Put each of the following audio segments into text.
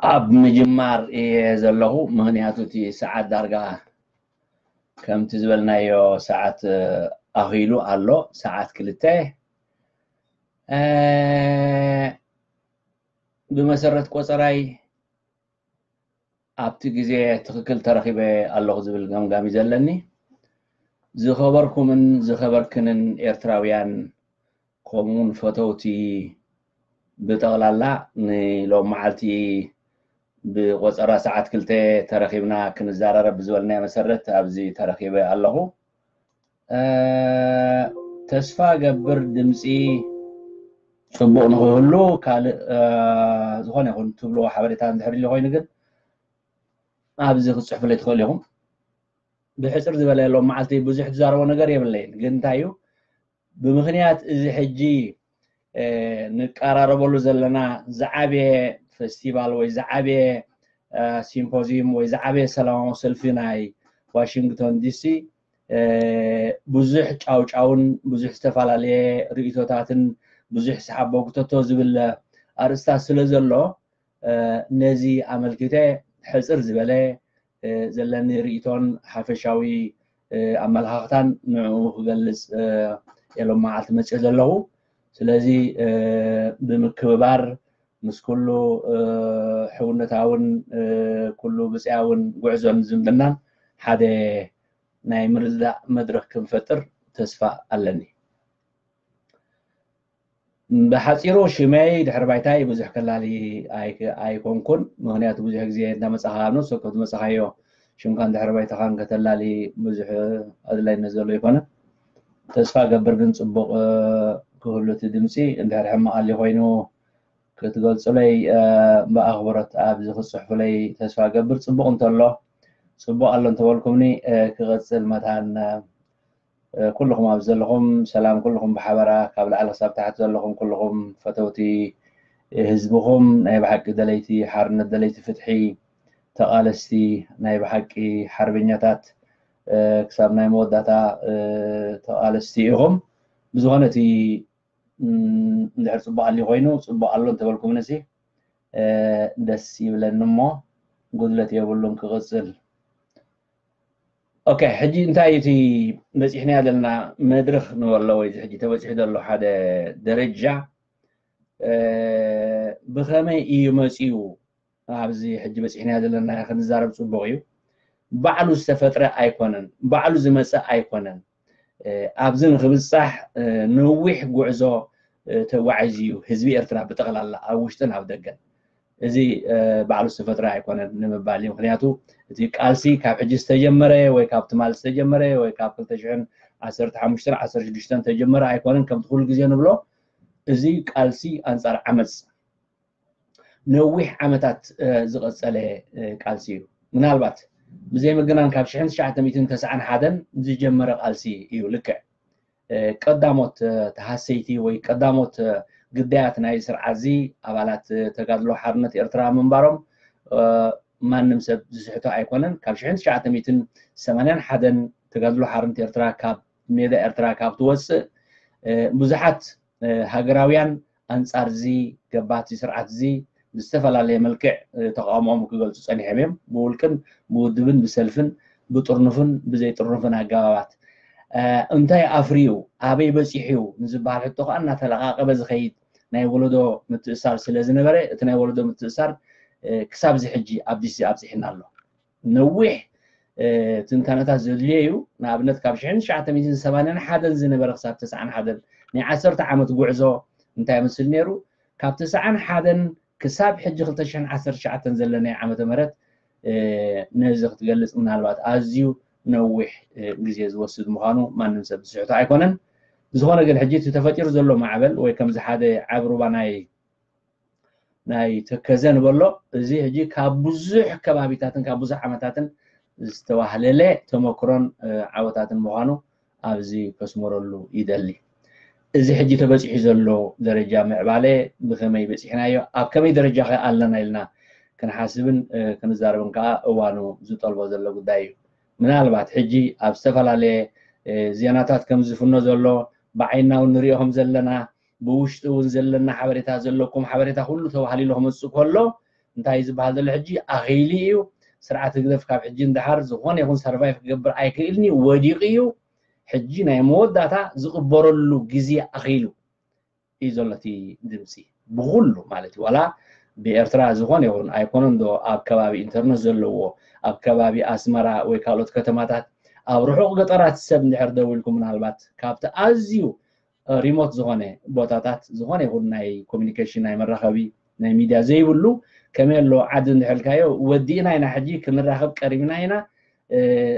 ኣብ ምጅማር እየ ዘለኹ፣ ምኽንያቱ እቲ ሰዓት ዳርጋ ከምቲ ዝበልናዮ ሰዓት ኣኺሉ ኣሎ፣ ሰዓት ክልተ። ብመሰረት ቆፀራይ ኣብቲ ግዜ ትኽክል ተረኺበ ኣለኹ ዝብል ገምጋም እዩ ዘለኒ። ዝኸበርኩምን ዝኸበርክንን ኤርትራውያን፣ ከምኡውን ፈተውቲ ብጠቕላላ፣ ንሎም መዓልቲ ብቆፀራ ሰዓት ክልተ ተረኺብና ክንዘራረብ ብዝበልናዮ መሰረት ኣብዚ ተረኺበ ኣለኹ። ተስፋ ገብር ድምፂ ፅቡቕ ንክህሉ ካልእ ዝኾነ ይኹን ትብልዎ ሓበሬታ እንድሕር ኢሉ ኮይኑ ግን ኣብዚ ክትፅሕፉለይ ትኽእሉ ኢኹም። ብሕፅር ዝበለ ሎም መዓልቲ ብዙሕ ትዛረቦ ነገር የብለይን፣ ግን እንታይ እዩ ብምኽንያት እዚ ሕጂ ንቀራረበሉ ዘለና ዝዓበየ ፌስቲቫል ወይ ዝዓበየ ሲምፖዚዩም ወይ ዝዓበየ ሰላማዊ ሰልፊ ናይ ዋሽንግቶን ዲሲ ብዙሕ ጫውጫውን ብዙሕ ዝተፈላለየ ርእቶታትን ብዙሕ ሰሓቦ ክተቶ ዝብል ኣርእስታት ስለ ዘሎ ነዚ ኣመልኪተ ሕፅር ዝበለ ዘለኒ ርእቶን ሓፈሻዊ ኣመለኻኽታን ንዕኡ ክገልፅ እየ ሎም መዓልቲ መፅእ ዘለኹ። ስለዚ ብምክብባር ምስ ኩሉ ሕውነታውን ኩሉ ብፅያውን ጉዕዞን ዝምድናን ሓደ ናይ ምርድዳእ መድረኽ ክንፈጥር ተስፋ ኣለኒ። ብሓፂሩ ሽመይ ድሕሪ ባይታይ ብዙሕ ከላሊ ኣይኮንኩን፣ ምኽንያቱ ብዙሕ ግዜ እንዳመፃኻ ንሱ ከትመፃኻዮ ሽምካን ድሕሪ ባይታኻን ከተላሊ ብዙሕ ኣድላይነት ዘሎ ኣይኮነን። ተስፋ ገብር ግን ፅቡቕ ክህሉ እቲ ድምፂ እንድሕር ሕማቕ ኣሊ ኮይኑ ክትገልፁለይ ብኣኽብሮት ኣብዚ ክትፅሕፉለይ ተስፋ ገብር። ፅቡቕ እንተሎ ፅቡቕ ኣሎ እንተበልኩምኒ ክቐፅል መታን ኩልኹም ኣብ ዘለኹም ሰላም ኩልኹም ብሓበራ ካብ ላዕሊ ክሳብ ታሕቲ ዘለኹም ኩልኹም ፈተውቲ ህዝብኹም ናይ ብሓቂ ደለይቲ ሓርነት ደለይቲ ፍትሒ ተቓለስቲ ናይ ብሓቂ ሓርበኛታት ክሳብ ናይ መወዳእታ ተቓለስቲ ኢኹም። ብዝኾነ እቲ እንድሕር ፅቡቕ ኣሊ ኮይኑ ፅቡቕ ኣሎ እንተበልኩምንሲ ደስ ይብለኒ እሞ ጉድለት የብሉን ክቕፅል። ኦኬ፣ ሕጂ እንታይ እቲ በፂሕናዮ ዘለና መድረኽ ንበሎ ወይ እዚ ሕጂ ተበፂሑ ዘሎ ሓደ ደረጃ ብኸመይ እዩ መፂኡ? ኣብዚ ሕጂ በፂሕናዮ ዘለና ክንዛረብ ፅቡቕ እዩ። ባዕሉ ዝተፈጥረ ኣይኮነን፣ ባዕሉ ዝመፀ ኣይኮነን። ኣብዚ ንክብፃሕ ነዊሕ ጉዕዞ ተጓዒዙ እዩ ህዝቢ ኤርትራ ብጠቕላላ ኣብ ውሽጥን ኣብ ደገን። እዚ ባዕሉ ዝተፈጥረ ኣይኮነን ንምባል እዩ። ምክንያቱ እቲ ቃልሲ ካብ ሕጂ ዝተጀመረ ወይ ካብ ትማል ዝተጀመረ ወይ ካብ ክልተ ሽሕን ዓሰርተ ሓሙሽተን ዓሰርተ ሽዱሽተን ተጀመረ ኣይኮነን። ከምቲ ኩሉ ግዜ ንብሎ እዚ ቃልሲ ኣንጻር ዓመፅ ነዊሕ ዓመታት ዝቐጸለ ቃልሲ እዩ። ምናልባት ብዘይ ምግናን ካብ ሽሕን ትሽዓተ ሚእትን ተስዓን ሓደን ዝጀመረ ቃልሲ እዩ። ልክዕ ቀዳሞት ተሃሰይቲ ወይ ቀዳሞት ግዳያት ናይ ስርዓት እዚ ኣባላት ተጋድሎ ሓርነት ኤርትራ ምንባሮም ማንም ሰብ ዝስሕቶ ኣይኮነን። ካብ ሽሕን ትሽዓተ ሚእትን ሰማንያን ሓደን ተጋድሎ ሓርነት ኤርትራ ካብ ሜዳ ኤርትራ ካብ ትወፅእ ብዙሓት ሃገራውያን ኣንጻር እዚ ገባቲ ስርዓት እዚ ብዝተፈላለየ መልክዕ ተቃውሞኦም ክገልፁ ፀኒሖም እዮም። ብውልቅን ብውድብን ብሰልፍን ብጥርኑፍን ብዘይጥርኑፍን ኣገባባት። እንታይ ኣፍርዩ ኣበይ በፂሑ እዩ ንዝበሃል ሕቶ ከዓ እናተለቃቀበ ዝኸይድ ናይ ወለዶ ምትእሳር ስለ ዝነበረ እቲ ናይ ወለዶ ምትእሳር ክሳብ እዚ ሕጂ ኣብ ዲሲ ኣብፂሕና ኣሎ። ነዊሕ ትንታነታት ዘድልዮ እዩ። ንኣብነት ካብ ሽሕን ትሽዓተ ሚእትን ሰማንያን ሓደን ዝነበረ ክሳብ ተስዓን ሓደን ናይ ዓሰርተ ዓመት ጉዕዞ እንታይ ይመስል ነይሩ? ካብ ተስዓን ሓደን ክሳብ ሕጂ ክልተ ሽሕን ዓሰርተ ትሽዓተን ዘለናዮ ዓመተ ምህረት ነዚ ክትገልፅ ምናልባት ኣዝዩ ነዊሕ ግዜ ዝወስድ ምዃኑ ማንም ሰብ ዝስሕቶ ኣይኮነን። ብዝኾነ ግን ሕጂ እቲ ተፈጢሩ ዘሎ ማዕበል ወይ ከምዚ ሓደ ዓብ ሩባ ናይ ናይ ተከዘ ንበሎ እዚ ሕጂ ካብ ብዙሕ ከባቢታትን ካብ ብዙሕ ዓመታትን ዝተዋህለለ ተመክሮን ዓወታትን ምዃኑ ኣብዚ ከስመረሉ ይደሊ። እዚ ሕጂ ተበፂሑ ዘሎ ደረጃ ምዕባለ ብኸመይ በፂሕናዮ ኣብ ከመይ ደረጃ ከ ኣለና ኢልና ክንሓስብን ክንዛረብን ከዓ እዋኑ ዝጠልቦ ዘሎ ጉዳይ እዩ። ምናልባት ሕጂ ኣብ ዝተፈላለየ ዜናታት ከም ዝፍኖ ዘሎ ብዓይንና እውን ንሪኦ ከም ዘለና ብውሽጢ እውን ዘለና ሓበሬታ ዘለኩም ሓበሬታ ኩሉ ተባህሊሉ ክመፅእ ከሎ እንታይ ዝበሃል ዘሎ ሕጂ ኣኺሉ እዩ። ስርዓት ህግደፍ ካብ ሕጂ ንደሓር ዝኾነ ይኹን ሰርቫይቭ ክገብር ኣይክእልን እዩ፣ ወዲቑ እዩ። ሕጂ ናይ መወዳእታ ዝቕበረሉ ግዜ ኣኺሉ እዩ ዘሎ እቲ ድምፂ ብኹሉ ማለት እዩ። ዋላ ብኤርትራ ዝኾነ ይኹን ኣይኮነን ዶ ኣብ ከባቢ ኢንተርነት ዘለዎ ኣብ ከባቢ ኣስመራ ወይ ካልኦት ከተማታት ኣብ ርሑቕ ገጠራት ሰብ እንድሕር ደው ኢልኩም ምናልባት ካብቲ ኣዝዩ ሪሞት ዝኾነ ቦታታት ዝኾነ ይኹን ናይ ኮሚኒኬሽን ናይ መራኸቢ ናይ ሚድያ ዘይብሉ ከመይ ኣሎ ዓዲ እንድሕልካዮ ወዲእና ኢና ሕጂ ክንራኸብ ቀሪብና ኢና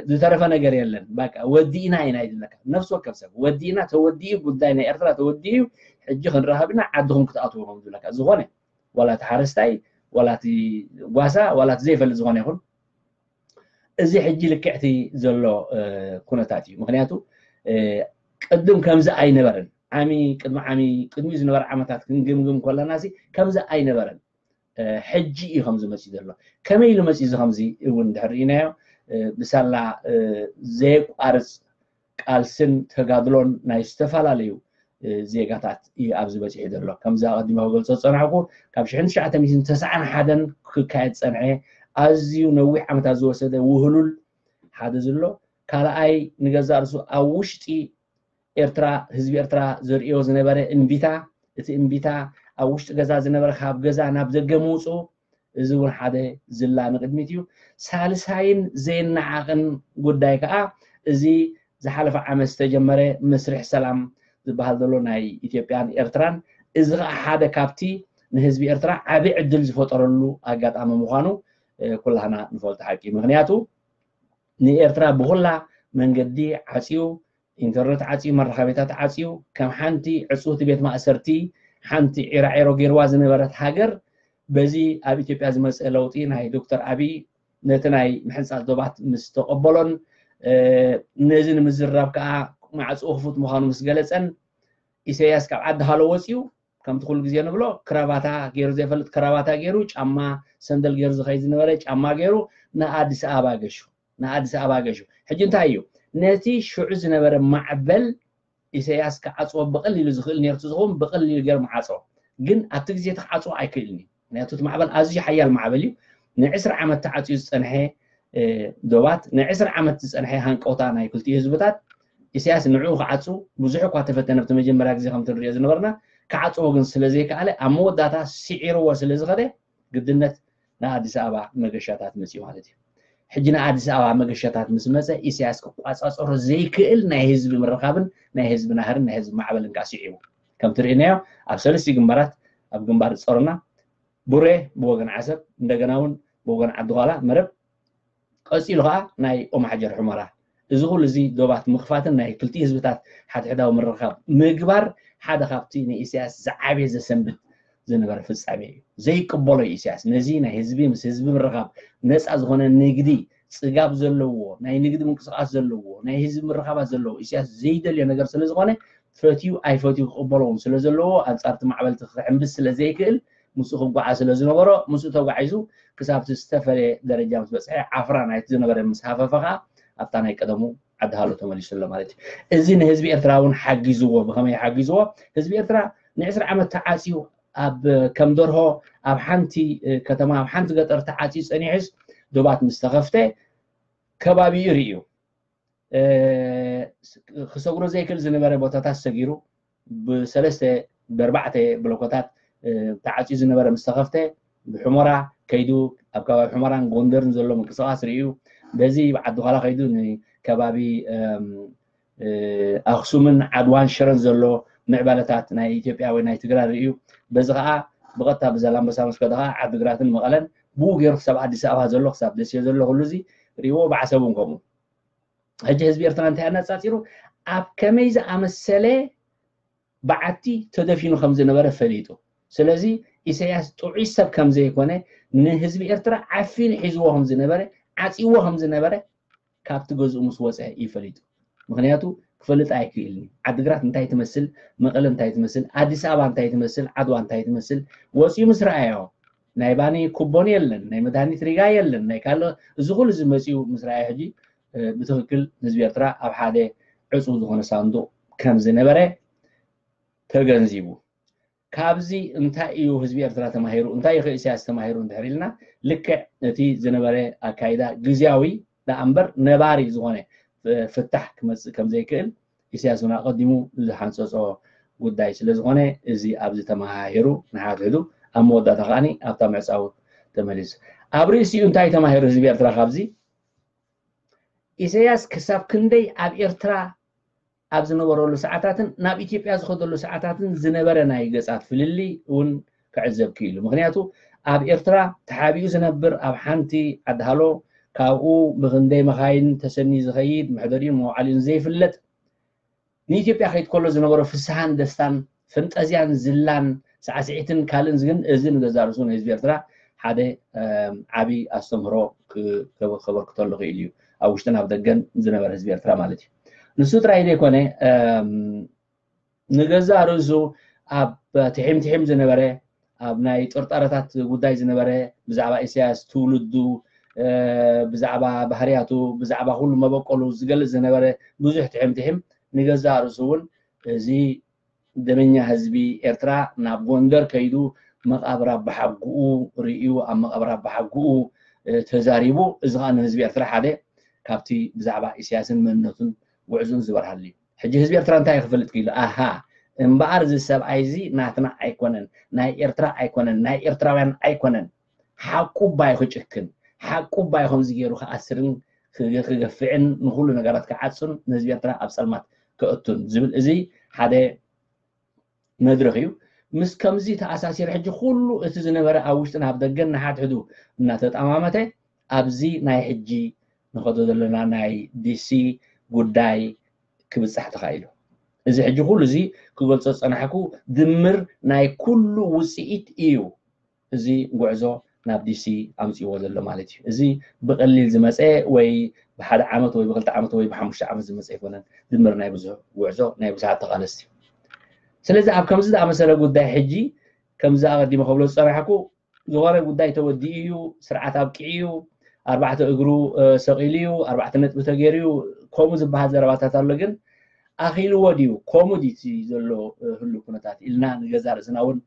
ዝተረፈ ነገር የለን በቃ ወዲእና ኢና ይድለካ ነፍሲ ወከፍ ሰብ ወዲእና ተወዲኡ ጉዳይ ናይ ኤርትራ ተወዲኡ ሕጂ ክንራኸብ ኢና ዓድኹም ክትኣትዉ ኢኹም ዝብለካ ዝኾነ ዋላ እቲ ሓረስታይ ዋላ እቲ ጓሳ ዋላ እቲ ዘይፈልጥ ዝኾነ ይኹን እዚ ሕጂ ልክዕቲ ዘሎ ኩነታት እዩ ምክንያቱ ቅድም ከምዚ ኣይነበረን ዓሚ ቅድሚ ዓሚ ቅድሚ ዝነበረ ዓመታት ክንግምግም ከለና ከምዚ ኣይነበረን ሕጂ እዩ ከምዚ መፅእ ዘሎ ከመይ ኢሉ መፅእ እዚ ከምዚ እውን ድሕር ኢናዮ ብሳላ ዘየቋርፅ ቃልስን ተጋድሎን ናይ ዝተፈላለዩ ዜጋታት እዩ ኣብዚ በፂሑ ዘሎ ከምዚ ኣቐዲመ ክገልፆ ዝፀናሕኩ ካብ ሽሕን ትሽዓተ ሚእትን ተስዓን ሓደን ክካየድ ፀንሐ ኣዝዩ ነዊሕ ዓመታት ዝወሰደ ውህሉል ሓደ ዝሎ ካልኣይ ንገዛእ ርሱ ኣብ ውሽጢ ኤርትራ ህዝቢ ኤርትራ ዘርእዮ ዝነበረ እምቢታ እቲ እምቢታ ኣብ ውሽጢ ገዛ ዝነበረ ካብ ገዛ ናብ ደገ ምውፅኡ እዚ እውን ሓደ ዝላ ንቅድሚት እዩ ሳልሳይን ዘይነዓቕን ጉዳይ ከዓ እዚ ዝሓለፈ ዓመት ዝተጀመረ መስርሕ ሰላም ዝበሃል ዘሎ ናይ ኢትዮጵያን ኤርትራን እዚ ከዓ ሓደ ካብቲ ንህዝቢ ኤርትራ ዓብ ዕድል ዝፈጠረሉ ኣጋጣሚ ምኳኑ ኩላህና ንፈልጦ ሓቂ ምክንያቱ ንኤርትራ ብኩላ መንገዲ ዓፅዩ ኢንተርነት ዓፅዩ መራኸቢታት ዓፅዩ ከም ሓንቲ ዕፅውቲ ቤት ማእሰርቲ ሓንቲ ዒራዒሮ ገይርዋ ዝነበረት ሃገር በዚ ኣብ ኢትዮጵያ ዝመፀ ለውጢ ናይ ዶክተር ኣብይ ነቲ ናይ ምሕንፃፅ ዶባት ምስ ተቐበሎን ነዚ ንምዝራብ ከዓ ማዕፅኡ ክፉት ምዃኑ ምስ ገለፀን ኢሳያስ ካብ ዓዲ ሃሎ ወፂኡ ከምቲ ኩሉ ግዜ ንብሎ ክራባታ ገይሩ ዘይፈልጥ ክራባታ ገይሩ ጫማ ሰንደል ገይሩ ዝኸይድ ዝነበረ ጫማ ገይሩ ንኣዲስ ኣበባ ገሹ ንኣዲስ ኣበባ ገሹ ሕጂ እንታይ እዩ ነቲ ሽዑ ዝነበረ ማዕበል ኢሳያስ ክዓፅዎ ብቐሊሉ ዝኽእል ነርቱ ዝኸውን ብቐሊሉ ገይሩ መዓፅዎ ግን ኣብቲ ግዜ እቲ ክዓፅዎ ኣይክእልን እዩ ምክንያቱ እቲ ማዕበል ኣዝዩ ሓያል ማዕበል እዩ ንዕስራ ዓመት ተዓፅዩ ዝፀንሐ ዶባት ንዕስራ ዓመት ዝፀንሐ ሃንቀውታ ናይ ክልቲኡ ህዝብታት ኢሳያስ ንዕኡ ክዓፁ ብዙሕ እኳ ተፈተነ ብቲ መጀመርያ ግዜ ከም ትንሪኦ ዝነበርና ክዓፅዎ ግን ስለ ዘይከኣለ ኣብ መወዳእታ ስዒርዎ ስለ ዝኸደ ግድነት ንኣዲስ ኣበባ መገሻታት መፅኡ ማለት እዩ ሕጂ ንኣዲስ ኣበባ መገሻታት ምስ መፀ ኢሳያስ ክቋፃፀሮ ዘይክእል ናይ ህዝቢ ምርኻብን ናይ ህዝቢ ናህርን ናይ ህዝቢ ማዕበልን ከዓ ስዒቡ ከም ትርእናዮ ኣብ ሰለስቲ ግንባራት ኣብ ግንባር ፆርና ቡሬ ብወገን ዓሰብ እንደገና እውን ብወገን ዓዲ ኳላ መረብ ቀፂሉ ከዓ ናይ ኦማሓጀር ሑመራ እዚ ኩሉ እዚ ዶባት ምኽፋትን ናይ ክልቲ ህዝብታት ሓድሕዳዊ ምርኻብ ምግባር ሓደ ካብቲ ንኢሳያስ ዝዓበየ ዘሰንብት ዝነበረ ፍፃሜ እዩ ዘይቅበሎ እዩ ኢሳያስ ነዚ ናይ ህዝቢ ምስ ህዝቢ ምርኻብ ነፃ ዝኾነ ንግዲ ፅጋብ ዘለዎ ናይ ንግዲ ምንቅስቃስ ዘለዎ ናይ ህዝቢ ምርኻባት ዘለዎ ኢሳያስ ዘይደልዮ ነገር ስለ ዝኾነ ፈትዩ ኣይፈትዩ ክቕበሎ እውን ስለ ዘለዎ ኣንፃርቲ ማዕበልቲ ክሕምብስ ስለ ዘይክእል ምስኡ ክጓዓ ስለ ዝነበሮ ምስኡ ተጓዒዙ ክሳብቲ ዝተፈለየ ደረጃ ምስ በፅሐ ዓፍራ ናይቲ ዝነበረ ምስ ሃፈፈ ከዓ ኣብታ ናይ ቀደሙ ዓዲ ሃሎ ተመሊሱ ኣሎ ማለት እዩ እዚ ንህዝቢ ኤርትራ እውን ሓጊዝዎ ብከመይ ሓጊዝዎ ህዝቢ ኤርትራ ንዕስራ ዓመት ተዓፅዩ ኣብ ከም ደርሆ ኣብ ሓንቲ ከተማ ኣብ ሓንቲ ገጠር ተዓፅዩ ፀኒሑስ ዶባት ምስ ተኸፍተ ከባቢኡ ርእዩ ክሰግሮ ዘይክእል ዝነበረ ቦታታት ሰጊሩ ብሰለስተ ብኣርባዕተ ብሎኮታት ተዓፅዩ ዝነበረ ምስ ተኸፍተ ብሑመራ ከይዱ ኣብ ከባቢ ሑመራን ጎንደርን ዘሎ ምንቅስቃስ ርእዩ በዚ ዓዲ ኳላ ከይዱ ንከባቢ ኣክሱምን ዓድዋን ሽረን ዘሎ ምዕባለታት ናይ ኢትዮጵያ ወይ ናይ ትግራይ ርእዩ በዚ ከዓ ብቐጥታ ብዛላምበሳ ምስ ከደ ከዓ ዓዲግራትን መቐለን ብኡ ገይሩ ክሳብ ኣዲስ ኣበባ ዘሎ ክሳብ ደሴ ዘሎ ኩሉ እዚ ርእይዎ ብዓሰብ እውን ከምኡ ሕጂ ህዝቢ ኤርትራ እንታይ ኣነፃፂሩ ኣብ ከመይ ዝኣመሰለ በዓቲ ተደፊኑ ከም ዝነበረ ፈሊጡ ስለዚ ኢሳያስ ጥዑይ ሰብ ከም ዘይኮነ ንህዝቢ ኤርትራ ዓፊኑ ሒዝዎ ከም ዝነበረ ዓፂዎ ከም ዝነበረ ካብቲ ገዝኡ ምስ ወፀ እዩ ፈሊጡ ምክንያቱ ክፈልጥ ኣይክእልን እዩ ዓድግራት እንታይ ትመስል መቐለ እንታይ ትመስል ኣዲስ ኣበባ እንታይ ትመስል ዓድዋ እንታይ ትመስል ወፂኡ ምስ ረኣዮ ናይ ባኒ ኩቦን የለን ናይ መድሃኒት ሪጋ የለን ናይ ካልኦ እዚ ኩሉ ዝመፅኡ ምስ ረኣዮ ሕጂ ብትክክል ህዝቢ ኤርትራ ኣብ ሓደ ዕፁብ ዝኾነ ሳንዱቕ ከም ዝነበረ ተገንዚቡ ካብዚ እንታይ እዩ ህዝቢ ኤርትራ ተማሂሩ፣ እንታይ እዩ ኢሳያስ ተማሂሩ እንድሕር ኢልና፣ ልክዕ እቲ ዝነበረ ኣካይዳ ግዝያዊ ደኣ እምበር ነባሪ ዝኾነ ፍታሕ ክመፅእ ከም ዘይክእል ኢሳያስ እውን ኣቐዲሙ ዝሓንፀፆ ጉዳይ ስለ ዝኾነ፣ እዚ ኣብዚ ተመሃሂሩ ንሓድሕዱ ኣብ መወዳእታ ከዓኒ ኣብታ ምዕፃው ተመሊሱ። ኣብ ርእሲኡ እንታይ ተማሂሩ ህዝቢ ኤርትራ ካብዚ? ኢሳያስ ክሳብ ክንደይ ኣብ ኤርትራ ኣብ ዝነበረሉ ሰዓታትን ናብ ኢትዮጵያ ዝኸደሉ ሰዓታትን ዝነበረ ናይ ገጻት ፍልልይ እውን ክዕዘብ ክኢሉ። ምክንያቱ ኣብ ኤርትራ ተሓቢኡ ዝነብር ኣብ ሓንቲ ዓዲ ሃሎ ካብኡ ብክንደይ መኻይን ተሰንዩ ዝኸይድ መሕደሪኡን መውዓሊኡን ዘይፍለጥ ንኢትዮጵያ ከይድ ከሎ ዝነበሮ ፍስሃን ደስታን ፈንጠዝያን ዝላን ሳዕስዒትን ካልእን ግን እዚ ንገዛ ርእሱ ንህዝቢ ኤርትራ ሓደ ዓብዪ ኣስተምህሮ ከበርክተሉ ክእል እዩ። ኣብ ውሽጥን ኣብ ደገን ዝነበረ ህዝቢ ኤርትራ ማለት እዩ። ንሱ ጥራይ ዘይኮነ ንገዛ ርእሱ ኣብ ትሒም ትሒም ዝነበረ ኣብ ናይ ጥርጣረታት ጉዳይ ዝነበረ ብዛዕባ ኢሳያስ ትውልዱ ብዛዕባ ባህርያቱ ብዛዕባ ኩሉ መበቆሉ ዝገልጽ ዝነበረ ብዙሕ ትሒም ትሒም ንገዛ ርእሱ እውን እዚ ደመኛ ህዝቢ ኤርትራ ናብ ጎንደር ከይዱ መቓብር ኣባሓጉኡ ርእዩ ኣብ መቓብር ኣባሓጉኡ ተዛሪቡ። እዚ ከዓ ንህዝቢ ኤርትራ ሓደ ካብቲ ብዛዕባ ኢሳያስን መንነቱን ጉዕዙን ዝበርሃሉ እዩ። ሕጂ ህዝቢ ኤርትራ እንታይ ክፈልጥ ክኢሉ? ኣሃ እምበኣር እዚ ሰብኣይ እዚ ናትና ኣይኮነን፣ ናይ ኤርትራ ኣይኮነን፣ ናይ ኤርትራውያን ኣይኮነን። ሓቁ ባይ ክጭክን ሓቁ ባይ ከምዚ ገይሩ ክኣስርን ክገፍዕን ንኩሉ ነገራት ክዓጹን ንህዝቢ ኤርትራ ኣብ ጸልማት ከእቱን ዝብል እዚ ሓደ መድረኽ እዩ። ምስ ከምዚ ተኣሳሲሩ ሕጂ ኩሉ እቲ ዝነበረ ኣብ ውሽጥን ኣብ ደገን ንሓድሕዱ እናተጠማመተ ኣብዚ ናይ ሕጂ ንኸዶ ዘለና ናይ ዲሲ ጉዳይ ክብጻሕ ተኻኢሉ። እዚ ሕጂ ኩሉ እዚ ክገልጾ ዝጸናሕኩ ድምር ናይ ኩሉ ውጽኢት እዩ። እዚ ጉዕዞ ናብ ዲሲ ኣምፅዎ ዘሎ ማለት እዩ። እዚ ብቀሊል ዝመፀ ወይ ብሓደ ዓመት ወይ ብክልተ ዓመት ወይ ብሓሙሽተ ዓመት ዝመፀ ኣይኮነን። ድምር ናይ ብዙሕ ጉዕዞ ናይ ብዙሓት ተቃለስቲ እዩ። ስለዚ ኣብ ከምዚ ዝኣመሰለ ጉዳይ ሕጂ ከምዚ ኣቀዲመ ከብሎ ዝፀናሕኩ ዝኾነ ጉዳይ ተወዲኡ እዩ፣ ስርዓት ኣብቂዑ እዩ፣ ኣርባዕተ እግሩ ሰቂሉ እዩ፣ ኣርባዕተ ነጥቢ ተገይሩ እዩ፣ ከምኡ ዝበሃል ዘረባታት ኣሎ። ግን ኣኺልዎ ድዩ? ከምኡ ድዩ እቲ ዘሎ ህሉ ኩነታት ኢልና ንገዛ ርእስና እውን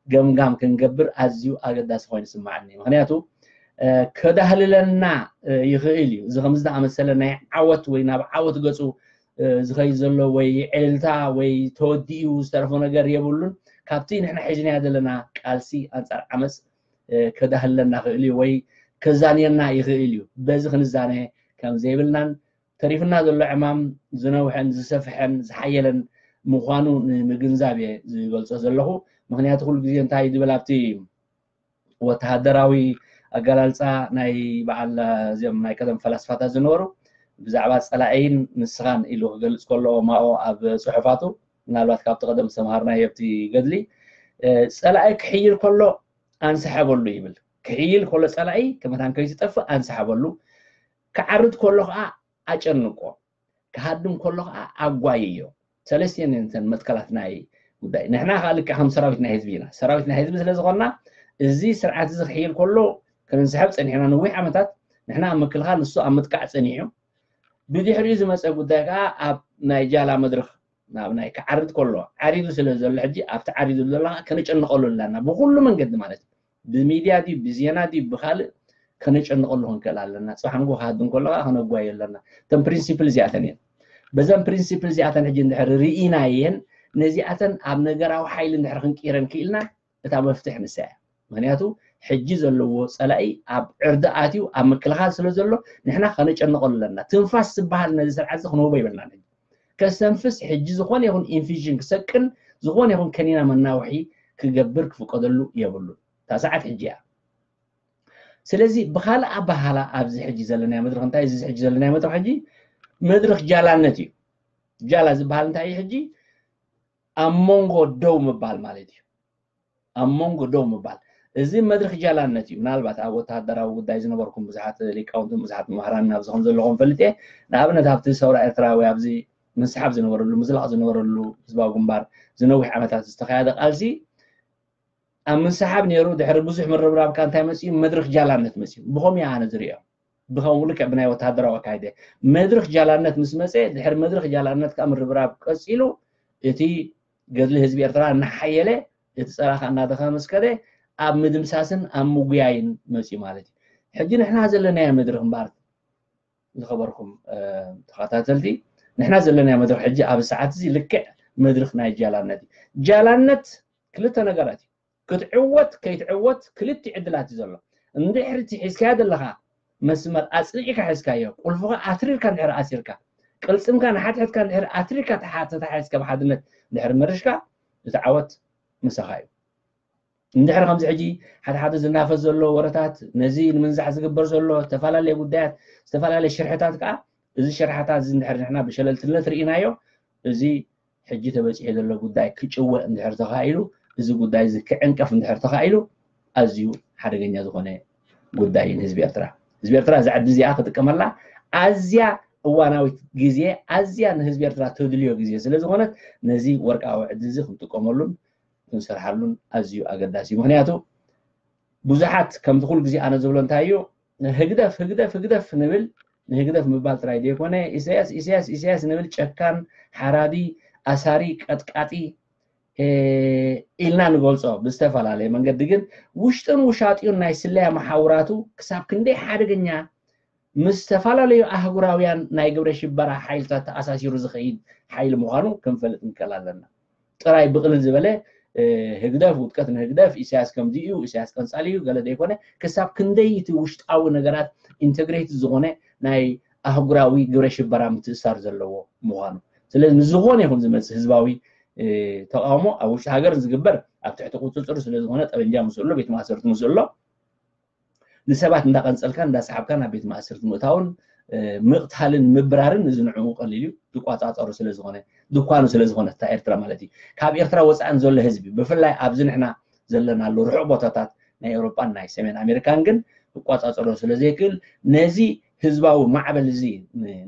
ገምጋም ክንገብር ኣዝዩ ኣገዳሲ ኮይኑ ይስምዓኒ። ምክንያቱ ከዳህልለና ይኽእል እዩ። እዚ ከምዚ ዝኣመሰለ ናይ ዓወት ወይ ናብ ዓወት ገፁ ዝኸይድ ዘሎ ወይ ዕልልታ ወይ ተወዲኡ ዝተረፎ ነገር የብሉን። ካብቲ ንሕና ሒዝናዮ ዘለና ቃልሲ ኣንፃር ዓመፅ ከዳህልለና ክእል እዩ ወይ ከዛንየና ይኽእል እዩ። በዚ ክንዛነ ከም ዘይብልናን ተሪፍና ዘሎ ዕማም ዝነውሐን ዝሰፍሐን ዝሓየለን ምዃኑ ንምግንዛብ እየ ዝገልጾ ዘለኹ። ምክንያቱ ኩሉ ግዜ እንታይ ድብል ኣብቲ ወተሃደራዊ ኣገላልፃ ናይ በዓል እዚኦም ናይ ቀደም ፈላስፋታት ዝነበሩ ብዛዕባ ፀላኢን ንስኻን ኢሉ ክገልፅ ከሎ ማኦ ኣብ ፅሑፋቱ ምናልባት ካብቲ ቀደም ዝተምሃርናዮ ኣብቲ ገድሊ ፀላኢ ክሕይል ከሎ ኣንስሐበሉ ይብል። ክሕይል ከሎ ፀላኢ ከመታን ከይትጠፍእ ኣንስሐበሉ። ክዓርድ ከሎ ከዓ ኣጨንቆ፣ ክሃድም ከሎ ከዓ ኣጓይዮ። ሰለስቲኤን እየን እተን መትከላት ናይ ጉዳይ። ንሕና ከዓ ልክዕ ከም ሰራዊት ናይ ህዝቢ ኢና። ሰራዊት ናይ ህዝቢ ስለ ዝኾንና እዚ ስርዓት እዚ ክሕይል ከሎ ክንንስሐብ ፀኒሕና ነዊሕ ዓመታት። ንሕና ኣብ ምክልኻል፣ ንሱ ኣብ ምጥቃዕ ፀኒሑ። ብድሕሪኡ ዝመፀ ጉዳይ ከዓ ኣብ ናይ ጃላ መድረኽ ናብ ናይ ክዓርድ ከሎ ዓሪዱ ስለ ዘሎ ሕጂ ኣብቲ ዓሪዱ ዘሎ ከዓ ከነጨንቐሉ ኣለና ብኩሉ መንገዲ ማለት እዩ። ብሚድያ ድዩ ብዜና ድዩ ብካልእ ከነጨንቐሉ ክንክእል ኣለና። ፅባሕ ንጎ ክሃድም ከሎ ከዓ ከነጓዮ ኣለና። እተን ፕሪንሲፕል እዚኣተን እየን። በዘን ፕሪንሲፕል እዚኣተን ሕጂ እንድሕር ርኢናየን ነዚኣተን ኣብ ነገራዊ ሓይሊ እንድሕር ክንቅይረን ክኢልና እታ መፍትሕ ንሳ እያ። ምክንያቱ ሕጂ ዘለዎ ፀላኢ ኣብ ዕርዲ ኣትዩ ኣብ ምክልኻል ስለ ዘሎ ንሕና ከነጨንቐሉ ኣለና። ትንፋስ ዝበሃል ነዚ ስርዓት እዚ ክንህቦ ይብልና። ከስተንፍስ ሕጂ ዝኾነ ይኹን ኢንፊዥን ክሰቅን ዝኾነ ይኹን ከኒና መናውሒ ክገብር ክፍቀደሉ የብሉን። እታ ሰዓት ሕጂ እያ። ስለዚ ብካልእ ኣበሃላ ኣብዚ ሕጂ ዘለናዮ መድረኽ እንታይ እዚ ሕጂ ዘለናዮ መድረኽ ሕጂ መድረኽ ጃላነት እዩ። ጃላ ዝበሃል እንታይ እዩ ሕጂ ኣብ መንጎ ደው ምባል ማለት እዩ። ኣብ መንጎ ደው ምባል እዚ መድረኽ ጃላነት እዩ። ምናልባት ኣብ ወተሃደራዊ ጉዳይ ዝነበርኩም ብዙሓት ሊቃውንትን ብዙሓት መምህራን ኣብዚ ከም ዘለኹም ፈልጥ እየ። ንኣብነት ኣብቲ ሰውራ ኤርትራ ወይ ኣብዚ ምስሓብ ዝነበረሉ ምዝላቕ ዝነበረሉ ህዝባዊ ግንባር ዝነዊሕ ዓመታት ዝተኻየደ ቃልሲ ኣብ ምስሓብ ነይሩ ድሕሪ ብዙሕ ምርብራብካ እንታይ መፅኡ መድረኽ ጃላነት መፅኡ ብኸምኡ ኣነ ዝሪኦ ብኸምኡ ልክዕ ብናይ ወተሃደራዊ ኣካይደ መድረኽ ጃላነት ምስ መፀ ድሕሪ መድረኽ ጃላነት ከዓ ምርብራብ ቀፂሉ እቲ ገድሊ ህዝቢ ኤርትራ እናሓየለ እቲ ፀላኢ ከዓ እናደኸመ ምስ ከደ ኣብ ምድምሳስን ኣብ ምጉያይን መፅዩ ማለት እዩ። ሕጂ ንሕና ዘለናዮ መድረኽ እምበኣር ዝኸበርኩም ተኸታተልቲ፣ ንሕና ዘለናዮ መድረኽ ሕጂ ኣብ ሰዓት እዚ ልክዕ መድረኽ ናይ ጃላነት እዩ። ጃላነት ክልተ ነገራት እዩ። ክትዕወት ከይትዕወት ክልቲ ዕድላት እዩ ዘሎ። እንድሕር እቲ ሒዝካዮ ዘለኻ መስመር ኣፅኒዕካ ሒዝካዮ፣ ቁልፍኻ ኣትሪርካ እንድሕር ኣሲርካ፣ ቅልፅምካ ንሓድሕድካ እንድሕር ኣትሪርካ ተሓተታሒዝካ ብሓድነት እንድሕር መርሽካ፣ እቲ ዓወት ምሳኻ እዩ። እንድሕር ከምዚ ሕጂ ሓደ ሓደ ዝናፈስ ዘሎ ወረታት፣ ነዚ ንምንዛሕ ዝግበር ዘሎ ዝተፈላለየ ጉዳያት፣ ዝተፈላለየ ሽርሕታት ከዓ፣ እዚ ሽርሕታት እዚ እንድሕር ንሕና ብሸለልትነት ርኢናዮ፣ እዚ ሕጂ ተበፂሑ ዘሎ ጉዳይ ክጭወ እንድሕር ተኻኢሉ፣ እዚ ጉዳይ እዚ ክዕንቀፍ እንድሕር ተኻኢሉ፣ ኣዝዩ ሓደገኛ ዝኾነ ጉዳይ እዩ ንህዝቢ ኤርትራ። ህዝቢ ኤርትራ እዛ ዕዲ እዚኣ ክጥቀመላ ኣዝያ እዋናዊት ግዜ፣ ኣዝያ ንህዝቢ ኤርትራ ተድልዮ ግዜ ስለ ዝኾነት፣ ነዚ ወርቃዊ ዕዲ እዚ ክንጥቀመሉን ክንሰርሓሉን ኣዝዩ ኣገዳሲ እዩ። ምክንያቱ ብዙሓት ከምቲ ኩሉ ግዜ ኣነ ዝብሎ እንታይ እዩ፣ ህግደፍ ህግደፍ ህግደፍ ንብል፣ ንህግደፍ ምባል ጥራይ ዘይኮነ፣ ኢሳያስ ኢሳያስ ኢሳያስ ንብል፣ ጨካን፣ ሓራዲ፣ ኣሳሪ፣ ቀጥቃጢ ኢልና ንገልጾ ብዝተፈላለየ መንገዲ፣ ግን ውሽጥን ውሻጢኡን ናይ ስለያ መሓውራቱ ክሳብ ክንደይ ሓደገኛ፣ ምስ ዝተፈላለዩ ኣህጉራውያን ናይ ግብረ ሽበራ ሓይልታት ተኣሳሲሩ ዝኸይድ ሓይሊ ምዃኑ ክንፈልጥ ንክእል ኣለና። ጥራይ ብቕልል ዝበለ ህግደፍ፣ ውድቀት ንህግደፍ፣ ኢሳያስ ከምዚ እዩ፣ ኢሳያስ ቀንጻሊ እዩ፣ ገለ ዘይኮነ፣ ክሳብ ክንደይ እቲ ውሽጣዊ ነገራት ኢንተግሬትድ ዝኾነ ናይ ኣህጉራዊ ግብረ ሽበራ ምትእሳር ዘለዎ ምዃኑ። ስለዚ ንዝኾነ ይኹን ዝመፅእ ህዝባዊ ተቃውሞ ኣብ ውሽጢ ሃገር ዝግበር ኣብ ትሕቲ ቁፅፅር ስለዝኾነ፣ ጠበንጃ ምስ ኣሎ፣ ቤት ማእሰርቲ ምስ ኣሎ፣ ንሰባት እንዳቀንጸልካን እንዳሰሓብካን ናብ ቤት ማእሰርቲ ምእታውን ምቕታልን ምብራርን፣ እዚ ንዕኡ ቀሊል እዩ፣ ዝቋጻጸሩ ስለዝኾነ፣ ድኳኑ ስለዝኾነ እታ ኤርትራ ማለት እዩ። ካብ ኤርትራ ወጻእን ዘሎ ህዝቢ፣ ብፍላይ ኣብዚ ንሕና ዘለናሉ ርሑቕ ቦታታት ናይ ኤውሮጳን ናይ ሰሜን ኣሜሪካን ግን ክቋጻጸሮ ስለዘይክእል፣ ነዚ ህዝባዊ ማዕበል እዚ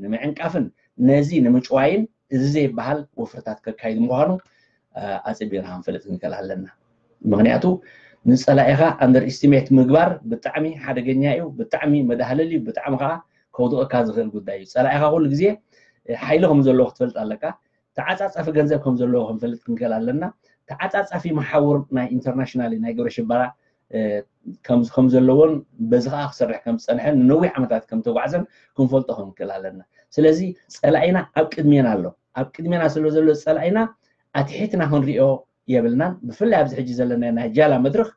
ንምዕንቃፍን ነዚ ንምጭዋይን እዚ ዘይበሃል ወፍርታት ከካይድ ምዃኑ ኣጽቢቕና ክንፈልጥ ክንክእል ኣለና። ምክንያቱ ንጸላኢኻ ኣንደር ኢስቲሜት ምግባር ብጣዕሚ ሓደገኛ እዩ፣ ብጣዕሚ መዳህለል እዩ፣ ብጣዕሚ ከዓ ከውድቐካ ዝኽእል ጉዳይ እዩ። ጸላኢኻ ኩሉ ግዜ ሓይሊ ከም ዘለዎ ክትፈልጥ ኣለካ። ተዓጻጻፊ ገንዘብ ከም ዘለዎ ክንፈልጥ ክንክእል ኣለና። ተዓጻጻፊ መሓውር ናይ ኢንተርናሽናል ናይ ግብረ ሽበራ ከም ዘለዎን በዚ ከዓ ክሰርሕ ከም ዝፀንሐን ንነዊሕ ዓመታት ከም ተጓዕዘን ክንፈልጦ ክንክእል ኣለና። ስለዚ ጸላኢና ኣብ ቅድሜና ኣሎ። ኣብ ቅድሜና ስለ ዘሎ ጸላኢና ኣትሒትና ክንሪኦ የብልናን። ብፍላይ ኣብዚ ሕጂ ዘለና ናይ ጃላ መድረኽ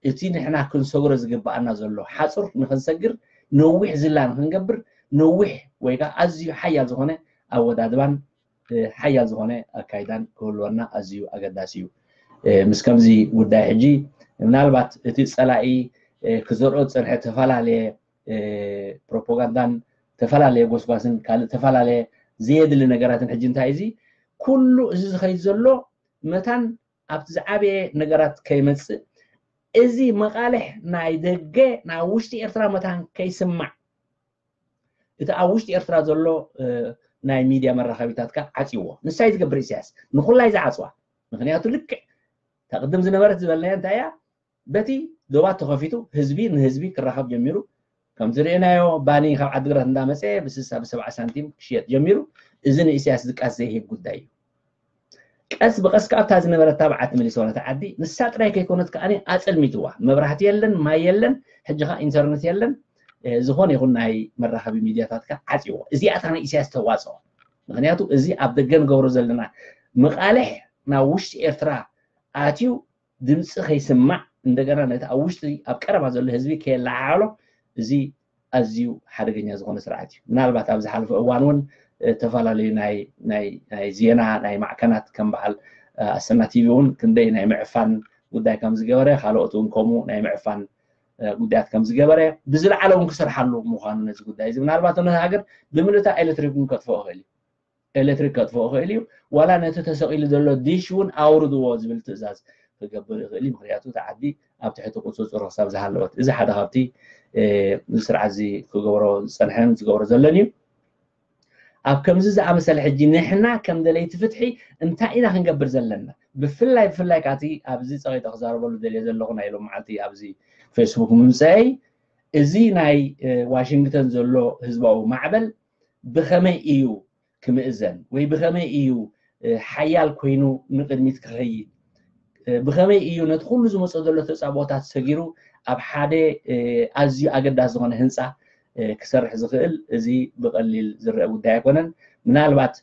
እቲ ንሕና ክንሰግሮ ዝግብኣና ዘሎ ሓጹር ንክንሰግር፣ ነዊሕ ዝላ ንክንገብር፣ ነዊሕ ወይ ከዓ ኣዝዩ ሓያል ዝኾነ ኣወዳድባን ሓያል ዝኾነ ኣካይዳን ክህልወና ኣዝዩ ኣገዳሲ እዩ። ምስ ከምዚ ጉዳይ ሕጂ ምናልባት እቲ ጸላኢ ክዘርኦ ዝጸንሐ ተፈላለየ ፕሮፓጋንዳን ተፈላለየ ጎስጓስን ካልእ ተፈላለየ ዘየድሊ ነገራትን ሕጂ እንታይ እዚ ኩሉ እዚ ዝኸይድ ዘሎ መታን ኣብቲ ዝዓበየ ነገራት ከይመጽእ፣ እዚ መቓልሕ ናይ ደገ ናብ ውሽጢ ኤርትራ መታን ከይስማዕ፣ እቲ ኣብ ውሽጢ ኤርትራ ዘሎ ናይ ሚድያ መራኸቢታት ከዓ ዓጽይዎ። ንሳይ ዝገብር ኢሳያስ ንኩላይ ዝዓጽዋ። ምክንያቱ ልክዕ ተቕድም ዝነበረት ዝበልናዮ እንታይ እያ? በቲ ዶባት ተኸፊቱ ህዝቢ ንህዝቢ ክራኸብ ጀሚሩ። ከምቲ ርእናዮ ባኒ ካብ ዓድግራት እንዳመፀ ብስሳ ብሰብዓ ሳንቲም ክሽየጥ ጀሚሩ። እዚ ንኢሳያስ ዝቃስ ዘይህብ ጉዳይ እዩ። ቀስ ብቐስ ከኣታ ዝነበረት ታብዓት ምልስ ሆነት ዓዲ ንሳ ጥራይ ከይኮነት ከኣ ኣጸልሚትዋ። መብራህቲ የለን፣ ማይ የለን፣ ሕጂ ኸኣ ኢንተርነት የለን። ዝኾነ ይኹን ናይ መራኸቢ ሚድያታት ከኣ ዓጽይዎ። እዚኣታ ናይ ኢሳያስ ተዋጽኦ። ምክንያቱ እዚ ኣብ ደገ ንገብሮ ዘለና መቓልሕ ናብ ውሽጢ ኤርትራ ኣትዩ ድምፂ ከይስማዕ እንደገና ነቲ ኣብ ውሽጢ ኣብ ቀረባ ዘሎ ህዝቢ ከየለዓዕሎ እዚ ኣዝዩ ሓደገኛ ዝኾነ ስርዓት እዩ። ምናልባት ኣብ ዝሓለፈ እዋን እውን ዝተፈላለዩ ናይ ዜና ናይ ማዕከናት ከም በዓል ኣሰና ቲቪ እውን ክንደይ ናይ ምዕፋን ጉዳይ ከም ዝገበረ፣ ካልኦት እውን ከምኡ ናይ ምዕፋን ጉዳያት ከም ዝገበረ ብዝለዓለ እውን ክሰርሓሉ ምዃኑ ነዚ ጉዳይ እዚ ምናልባት ነቲ ሃገር ብምልእታ ኤሌክትሪክ እውን ከጥፍኦ ይኽእል እዩ። ኤሌክትሪክ ከጥፍኦ ይኽእል እዩ። ዋላ ነቲ ተሰቒሉ ዘሎ ዲሽ እውን ኣውርድዎ ዝብል ትእዛዝ ክገብር ይኽእል እዩ። ምክንያቱ እቲ ዓዲ ኣብ ትሕቲ ቁፅፅሩ ክሳብ ዝሃለወት። እዚ ሓደ ካብቲ እዚ ስርዓት እዚ ክገብሮ ዝፀንሐን ዝገብሮ ዘሎን እዩ። ኣብ ከምዚ ዝኣመሰለ ሕጂ ንሕና ከም ደለይቲ ፍትሒ እንታይ ኢና ክንገብር ዘለና? ብፍላይ ብፍላይ ካቲ ኣብዚ ፀቂጠ ክዛረበሉ ደልየ ዘለኹ ናይ ሎም መዓልቲ ኣብዚ ፌስቡክ ምምፀአይ እዚ ናይ ዋሽንግተን ዘሎ ህዝባዊ ማዕበል ብኸመይ እዩ ክምእዘን ወይ ብኸመይ እዩ ሓያል ኮይኑ ንቅድሚት ክኸይድ ብኸመይ እዩ ነቲ ኩሉ ዝመፅእ ዘሎ ተፃብኦታት ሰጊሩ ኣብ ሓደ ኣዝዩ ኣገዳሲ ዝኾነ ህንፃ ክሰርሕ ዝኽእል? እዚ ብቐሊል ዝረአ ጉዳይ ኣይኮነን። ምናልባት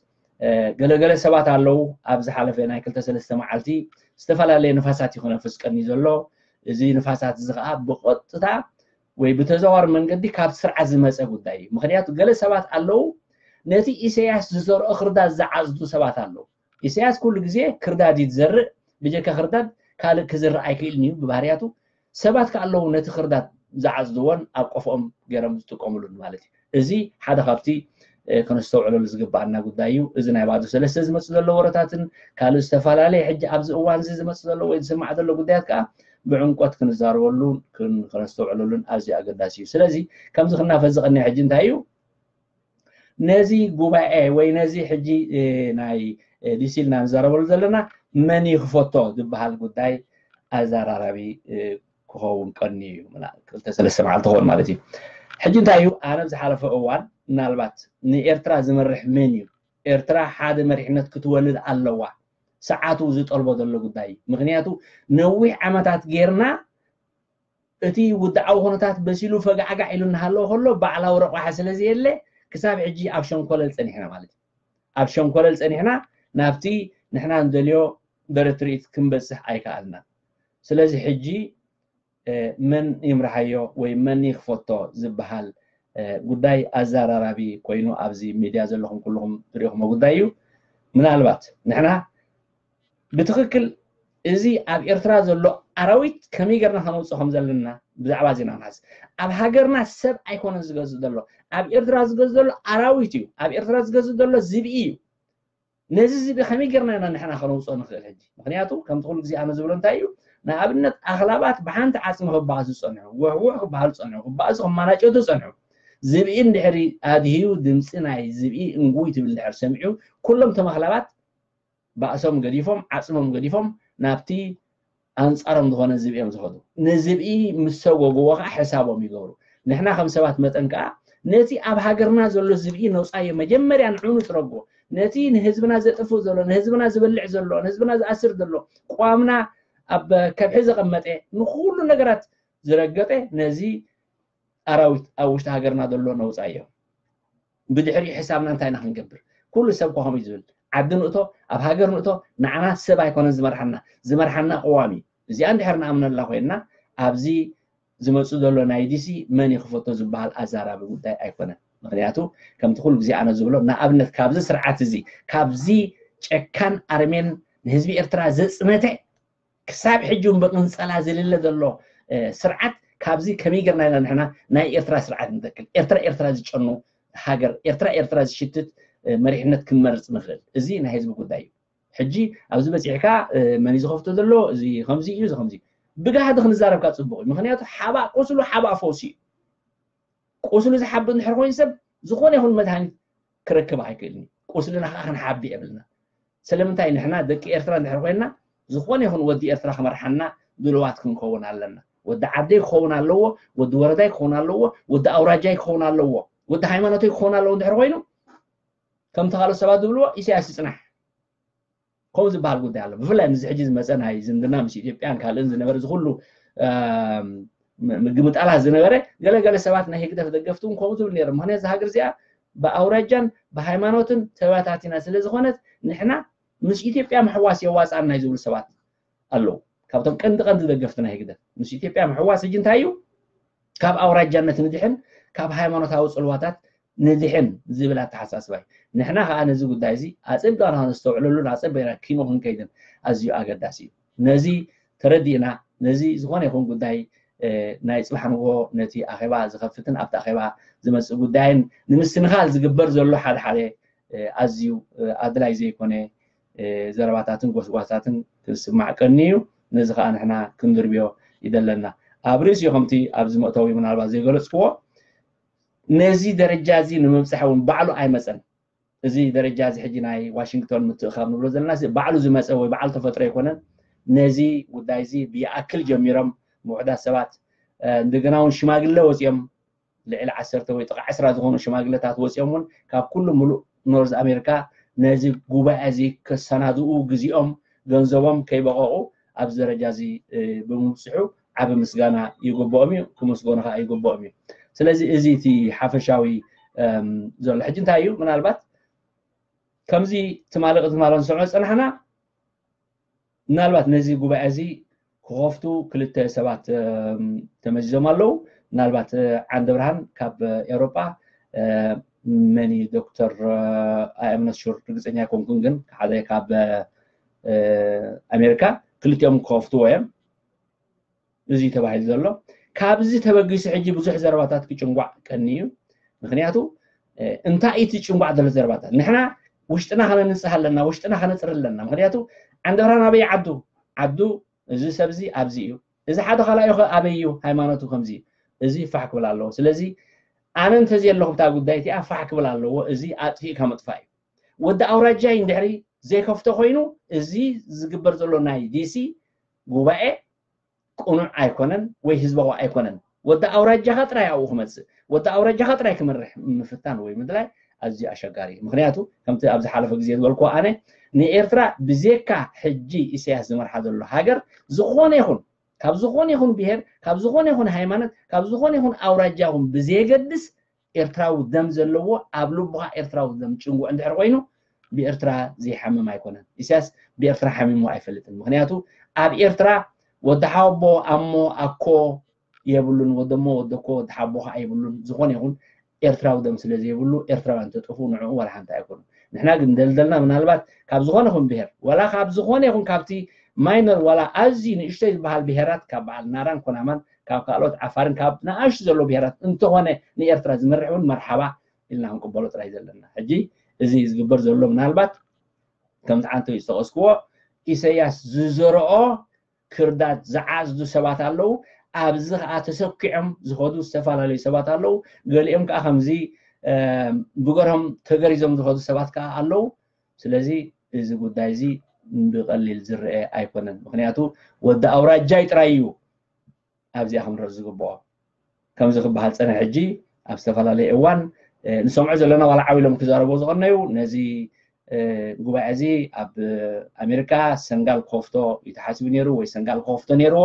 ገለገለ ሰባት ኣለዉ ኣብ ዝሓለፈ ናይ ክልተ ሰለስተ መዓልቲ ዝተፈላለየ ንፋሳት ይኹን ኣፍስቀኒ ዘሎ። እዚ ንፋሳት እዚ ከዓ ብቐጥታ ወይ ብተዘዋር መንገዲ ካብ ስርዓት ዝመፀ ጉዳይ እዩ። ምክንያቱ ገለ ሰባት ኣለዉ ነቲ ኢሳያስ ዝዘርኦ ክርዳድ ዝዓፅዱ ሰባት ኣለዉ። ኢሳያስ ኩሉ ግዜ ክርዳድ እዩ ዝዘርእ። ብጀካ ክርዳድ ካልእ ክዝርእ ኣይክእልን እዩ ብባህርያቱ። ሰባት ከ ኣለዉ ነቲ ክርዳድ ዝዓፅድዎን ኣብ ቆፎኦም ገይሮም ዝጥቀምሉን ማለት እዩ። እዚ ሓደ ካብቲ ከነስተውዕለሉ ዝግባኣና ጉዳይ እዩ። እዚ ናይ ባዶ ሰለስተ ዝመፅእ ዘሎ ወረታትን ካልእ ዝተፈላለየ ሕጂ ኣብዚ እዋን እዚ ዝመፅእ ዘሎ ወይ ዝስማዕ ዘሎ ጉዳያት ከዓ ብዕምቆት ክንዛረበሉን ከነስተውዕለሉን ኣዝዩ ኣገዳሲ እዩ። ስለዚ ከምዚ ክናፈስ ዝቐንየ ሕጂ እንታይ እዩ? ነዚ ጉባኤ ወይ ነዚ ሕጂ ናይ ዲሲ ኢልና ንዛረበሉ ዘለና መን ይኽፈቶ ዝበሃል ጉዳይ ኣዘራራቢ ክኸውን ቀኒ እዩ። ክልተ ሰለስተ መዓልቲ ክኸውን ማለት እዩ። ሕጂ እንታይ እዩ? ኣነ ዝሓለፈ እዋን ምናልባት ንኤርትራ ዝመርሕ መን እዩ? ኤርትራ ሓደ መሪሕነት ክትወልድ ኣለዋ። ሰዓቱ ዝጠልቦ ዘሎ ጉዳይ እዩ። ምክንያቱ ነዊሕ ዓመታት ጌርና እቲ ውድዓዊ ኩነታት በሲሉ ፈጋዕጋዕ ኢሉ እናሃለወ ከሎ ባዕላዊ ረቋሒ ስለ ዘየለ ክሳብ ሕጂ ኣብ ሸንኮለል ፀኒሕና ማለት እዩ። ኣብ ሸንኮለል ፀኒሕና ናብቲ ንሕና ንደልዮ ደረት ትርኢት ክንበፅሕ ኣይከኣልናን። ስለዚ ሕጂ መን ይምርሓዮ ወይ መን ይኽፈቶ ዝበሃል ጉዳይ ኣዘራራቢ ኮይኑ ኣብዚ ሚድያ ዘለኹም ኩልኹም ትሪእኹሞ ጉዳይ እዩ። ምናልባት ንሕና ብትኽክል እዚ ኣብ ኤርትራ ዘሎ ኣራዊት ከመይ ጌርና ከነውፅኦ ከም ዘለና ብዛዕባ እዚ ኢና ክንሓስብ። ኣብ ሃገርና ሰብ ኣይኮነን ዝገዝእ ዘሎ፣ ኣብ ኤርትራ ዝገዝእ ዘሎ ኣራዊት እዩ። ኣብ ኤርትራ ዝገዝእ ዘሎ ዝብኢ እዩ። ነዚ ዝብኢ ከመይ ጌርና ኢና ንሕና ከነውፅኦ ንኽእል? ሕጂ ምክንያቱ ከምቲ ኩሉ ግዜ ኣነ ዝብሎ እንታይ እዩ፣ ንኣብነት ኣኽላባት ብሓንቲ ዓፅሚ ክበኣሱ ዝፀንሑ፣ ውሕውሕ ክበሃሉ ዝፀንሑ፣ ክበኣሱ ክመናጨቱ ዝፀንሑ፣ ዝብኢ እንድሕሪ ኣድህዩ ድምፂ ናይ ዝብኢ እንጉይ ትብል እንድሕር ሰሚዑ ኩሎም እቶም ኣኽላባት ባእሶም ገዲፎም ዓፅሞም ገዲፎም ናብቲ ኣንፃሮም ዝኾነ ዝብኢ እዮም ዝኸዱ። ንዝብኢ ምስ ሰጎግዎ ከዓ ሕሳቦም ይገብሩ። ንሕና ከም ሰባት መጠን ከዓ ነቲ ኣብ ሃገርና ዘሎ ዝብኢ ነውፃዮ፣ መጀመርያ ንዕኡ ንፅረጎ። ነቲ ንህዝብና ዘጥፍእ ዘሎ፣ ንህዝብና ዝበልዕ ዘሎ፣ ንህዝብና ዝኣስር ዘሎ፣ ቅዋምና ኣብ ከብሒ ዘቐመጠ፣ ንኩሉ ነገራት ዝረገጠ ነዚ ኣራዊት ኣብ ውሽጢ ሃገርና ዘሎ ነውፃዮ። ብድሕሪኡ ሕሳብና እንታይ ኢና ክንገብር? ኩሉ ሰብ እኮ ከምኡ እዩ ዝብል። ዓዲ ንእቶ፣ ኣብ ሃገር ንእቶ፣ ንዓና ሰብ ኣይኮነን ዝመርሓና፣ ዝመርሓና ቅዋም እዩ። እዚኣ እንድሕር ንኣምነላ ኮይንና ኣብዚ ዝመፁ ዘሎ ናይ ዲሲ መን ይኽፈቶ ዝበሃል ኣዛራቢ ጉዳይ ኣይኮነን። ምክንያቱ ከምቲ ኩሉ ግዜ ኣነ ዝብሎ ንኣብነት ካብዚ ስርዓት እዚ ካብዚ ጨካን ኣርሜን ንህዝቢ ኤርትራ ዘፅነተ ክሳብ ሕጂ እውን ብቅንፀላ ዝልለ ዘሎ ስርዓት ካብዚ ከመይ ገርና ኢና ንሕና ናይ ኤርትራ ስርዓት ንተክል? ኤርትራ ኤርትራ ዝጨኑ ሃገር ኤርትራ ኤርትራ ዝሽትት መሪሕነት ክንመርፅ ንኽእል? እዚ ናይ ህዝቢ ጉዳይ እዩ። ሕጂ ኣብዚ በፂሕካ መን እዩ ዝኸፍቶ ዘሎ? እዚ ከምዚ እዩ፣ እዚ ከምዚ እዩ። ብጋህዲ ክንዛረብካ ፅቡቅ እዩ። ምክንያቱ ሓባእ ቁስሉ ሓባእ ፈውሲ እዩ። ቁስሉ ዝሓቢ እንድሕር ኮይኑ ሰብ ዝኾነ ይኹን መድሃኒት ክረክብ ኣይክእልን እዩ። ቁስልና ከዓ ክንሓቢ የብልና። ስለምንታይ ንሕና ደቂ ኤርትራ እንድሕር ኮይንና ዝኾነ ይኹን ወዲ ኤርትራ ክመርሓና ድልዋት ክንከውን ኣለና። ወዲ ዓደይ ክኸውን ኣለዎ፣ ወዲ ወረዳይ ክኸውን ኣለዎ፣ ወዲ ኣውራጃይ ክኸውን ኣለዎ፣ ወዲ ሃይማኖተይ ክኸውን ኣለዎ እንድሕር ኮይኑ ከምቲ ካልኦት ሰባት ዝብልዎ ኢሳያስ ይፅናሕ። ከምኡ ዝበሃል ጉዳይ ኣሎ። ብፍላይ ምስዚ ሕጂ ዝመፀ ናይ ዝምድና ምስ ኢትዮጵያን ካልእን ዝነበረ እዚ ኩሉ ምግምጣላት ዝነበረ ገለገለ ሰባት ናይ ህግደፍ ደገፍቲ እውን ከምኡ ትብል ነይሮም። ምክንያቱ እዛ ሃገር እዚኣ ብኣውራጃን ብሃይማኖትን ተበታቲና ስለ ዝኾነት ንሕና ምስ ኢትዮጵያ ምሕዋስ የዋፅኣና እዩ ዝብሉ ሰባት ኣለዉ። ካብቶም ቀንዲ ቀንዲ ደገፍቲ ናይ ህግደፍ ምስ ኢትዮጵያ ምሕዋስ ሕጂ እንታይ እዩ? ካብ ኣውራጃነት ንድሕን ካብ ሃይማኖታዊ ፅልዋታት ንድሕን ዝብል ኣተሓሳስባ እዩ። ንሕና ከዓ ነዚ ጉዳይ እዚ ኣፀቢቕና ከነስተውዕለሉን ኣፀቢቕና ኪኖ ክንከይድን ኣዝዩ ኣገዳሲ እዩ። ነዚ ተረዲእና ነዚ ዝኾነ ይኹን ጉዳይ ናይ ፅባሕ ንግሆ ነቲ ኣኼባ ዝኸፍትን ኣብቲ ኣኼባ ዝመፅእ ጉዳይን ንምስንኻል ዝግበር ዘሎ ሓደ ሓደ ኣዝዩ ኣድላይ ዘይኮነ ዘረባታትን ጎስጓሳትን ክስማዕ ቀኒ እዩ። ነዚ ከዓ ንሕና ክንድርብዮ ይደለና። ኣብ ርእሲኡ ከምቲ ኣብዚ መእተዊ ምናልባት ዘይገለፅክዎ ነዚ ደረጃ እዚ ንምብፃሕ እውን ባዕሉ ኣይመፀን። እዚ ደረጃ እዚ ሕጂ ናይ ዋሽንግቶን ምትእኻብ ንብሎ ዘለና ባዕሉ ዝመፀ ወይ ባዕሉ ተፈጥሮ ኣይኮነን። ነዚ ጉዳይ እዚ ብይኣክል ጀሚሮም ምውሕዳት ሰባት እንደገና እውን ሽማግለ ወፂኦም ልዕሊ ዓሰርተ ወይ ጥቓ ዕስራ ዝኾኑ ሽማግለታት ወፂኦም እውን ካብ ኩሉ ሙሉእ ኖርዝ ኣሜሪካ ነዚ ጉባኤ እዚ ከሰናድኡ ግዜኦም ገንዘቦም ከይበቐቑ ኣብዚ ደረጃ እዚ ብምብፅሑ ዓቢ ምስጋና ይግብኦም እዩ፣ ክምስገኑ ከዓ ይግብኦም እዩ። ስለዚ እዚ እቲ ሓፈሻዊ ዘሎ። ሕጂ እንታይ እዩ ምናልባት ከምዚ ትማሊ ቅድሚ ማሎ ንሰምዖ ዝፀናሕና ምናልባት ነዚ ጉባኤ እዚ ክኸፍቱ ክልተ ሰባት ተመዚዞም ኣለዉ። ምናልባት ዓንደ ብርሃን ካብ ኤውሮጳ፣ መኒ ዶክተር ኣምነት ሹር ርግፀኛ ኣይኮንኩን፣ ግን ሓደ ካብ ኣሜሪካ፣ ክልቲኦም ክኸፍትዎ እዮም። እዚ ተባሂሉ ዘሎ ካብዚ ተበጊሱ ሕጂ ብዙሕ ዘረባታት ክጭንጓዕ ቀኒ እዩ። ምክንያቱ እንታይ እቲ ጭንጓዕ ዘሎ ዘረባታት? ንሕና ውሽጥና ከነንጽህ ኣለና፣ ውሽጥና ከነጽሪ ኣለና። ምክንያቱ ዓንደ ብርሃን ኣበይ ዓዱ? ዓዱ እዚ ሰብ እዚ ኣብዚ እዩ። እዚ ሓደ ካልኣዩ ከ ኣበይ እዩ? ሃይማኖቱ ከምዚ እዩ። እዚ ፋሕ ክብል ኣለዎ። ስለዚ ኣነ እንተዘየለኹ ብታ ጉዳይ እቲኣ ፋሕ ክብል ኣለዎ። እዚ ኣጥፊእካ ምጥፋእ እዩ። ወዲ ኣውራጃይ እንድሕሪ ዘይከፍቶ ኮይኑ እዚ ዝግበር ዘሎ ናይ ዲሲ ጉባኤ ቅኑዕ ኣይኮነን ወይ ህዝባዊ ኣይኮነን። ወዲ ኣውራጃኻ ጥራይ ኣብኡ ክመፅእ፣ ወዲ ኣውራጃኻ ጥራይ ክመርሕ ምፍታን ወይ ምድላይ ኣዝዩ ኣሸጋሪ እዩ። ምክንያቱ ከምቲ ኣብ ዝሓለፈ ግዜ ዝበልኩዎ ኣነ ንኤርትራ ብዜካ ሕጂ ኢሳያስ ዝመርሓ ዘሎ ሃገር ዝኾነ ይኹን ካብ ዝኾነ ይኹን ብሄር፣ ካብ ዝኾነ ይኹን ሃይማኖት፣ ካብ ዝኾነ ይኹን ኣውራጃ ይኹን ብዘየገድስ ኤርትራዊ ደም ዘለዎ ኣብ ልቡኻ ኤርትራዊ ደም ጭንጉዕ እንድሕር ኮይኑ ብኤርትራ ዘይሓምም ኣይኮነን። ኢሳያስ ብኤርትራ ሓሚሙ ኣይፈልጥን። ምክንያቱ ኣብ ኤርትራ ወዲ ሓቦ ኣሞ ኣኮ የብሉን፣ ወደሞ ወደኮ ወዲ ሓቦ ከዓ የብሉን። ዝኾነ ይኹን ኤርትራዊ ደም ስለ ዘይብሉ ኤርትራውያን ተጠፉ ንዕኡ ዋላ ሓንቲ ኣይኮኑን። ንሕና ግን ደልደልና ምናልባት ካብ ዝኾነ ይኹን ብሄር ዋላ ካብ ዝኾነ ይኹን ካብቲ ማይነር ዋላ ኣዝዩ ንእሽተይ ዝበሃል ብሄራት ካብ በዓል ናራን ኮናማን ካብ ካልኦት ዓፋርን ካብ ንኣሽቱ ዘሎ ብሄራት እንተኾነ ንኤርትራ ዝመርሕ እውን መርሓባ ኢልና ክንቅበሎ ጥራይ ዘለና። ሕጂ እዚ ዝግበር ዘሎ ምናልባት ከምቲ ዓንተው ዝጠቐስክዎ ኢሰያስ ዝዘረኦ ክርዳድ ዝዓዝዱ ሰባት ኣለዉ። ኣብዚ ከዓ ተሰኪዖም ዝኸዱ ዝተፈላለዩ ሰባት ኣለዉ። ገሊኦም ከዓ ከምዚ ብገርሆም ተገሪዞም ዝኸዱ ሰባት ከዓ ኣለዉ። ስለዚ እዚ ጉዳይ እዚ ብቐሊል ዝረአ ኣይኮነን። ምክንያቱ ወዲ ኣውራጃይ ጥራይ እዩ ኣብዚኣ ክንረእ ዝግብኦ። ከምዚ ክበሃል ፀነ ሕጂ ኣብ ዝተፈላለየ እዋን ንሰምዖ ዘለና ዋላ ዓው ኢሎም ክዛረቦ ዝቐነዩ ነዚ ጉባኤ እዚ ኣብ ኣሜሪካ ሰንጋል ክኸፍቶ እዩ ተሓሲቡ ነይሩ ወይ ሰንጋል ክኸፍቶ ነይርዎ።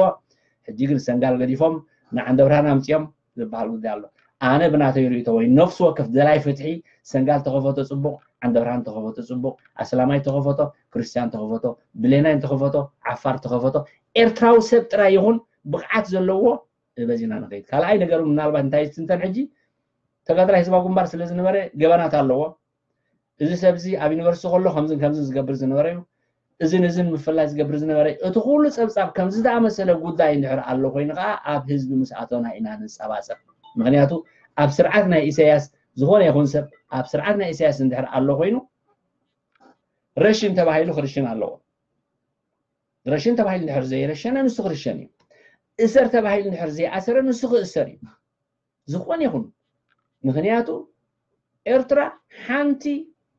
ሕጂ ግን ሰንጋል ገዲፎም ንዓንደ ብርሃን ኣምፅኦም ዝበሃል ጉዳይ ኣሎ። ኣነ ብናተይ ርእይቶ ወይ ነፍሲ ወከፍ ደላይ ፍትሒ ሰንጋል ተኸፈቶ ፅቡቕ፣ ዓንደ ብርሃን ተኸፈቶ ፅቡቕ፣ ኣስላማይ ተኸፈቶ፣ ክርስትያን ተኸፈቶ፣ ብሌናይ ተኸፈቶ፣ ዓፋር ተኸፈቶ፣ ኤርትራዊ ሰብ ጥራይ ይኹን ብቕዓት ዘለዎ በዚና ንኸይድ። ካልኣይ ነገሩ ምናልባት እንታይ ዝትንተን ሕጂ ተጋዳላይ ህዝባዊ ግንባር ስለ ዝነበረ ገበናት ኣለዎ። እዚ ሰብ እዚ ኣብ ዩኒቨርሲቲ ከሎ ከምዝን ከምዝን ዝገብር ዝነበረ እዩ። እዝን እዝን ምፍላይ ዝገብር ዝነበረ እዩ። እቲ ኩሉ ፀብፃብ ከምዚ ዝኣመሰለ ጉዳይ እንድሕር ኣሎ ኮይኑ ከዓ ኣብ ህዝቢ ምስ ኣተና ኢና ንፀባፀብ። ምክንያቱ ኣብ ስርዓት ናይ ኢሳያስ ዝኾነ ይኹን ሰብ ኣብ ስርዓት ናይ ኢሳያስ እንድሕር ኣሎ ኮይኑ ረሽን ተባሂሉ ክርሽን ኣለዎ። ረሽን ተባሂሉ እንድሕር ዘይረሸነ ንሱ ክርሸን እዩ። እሰር ተባሂሉ እንድሕር ዘይኣሰረ ንሱ ክእሰር እዩ። ዝኾነ ይኹን ምክንያቱ ኤርትራ ሓንቲ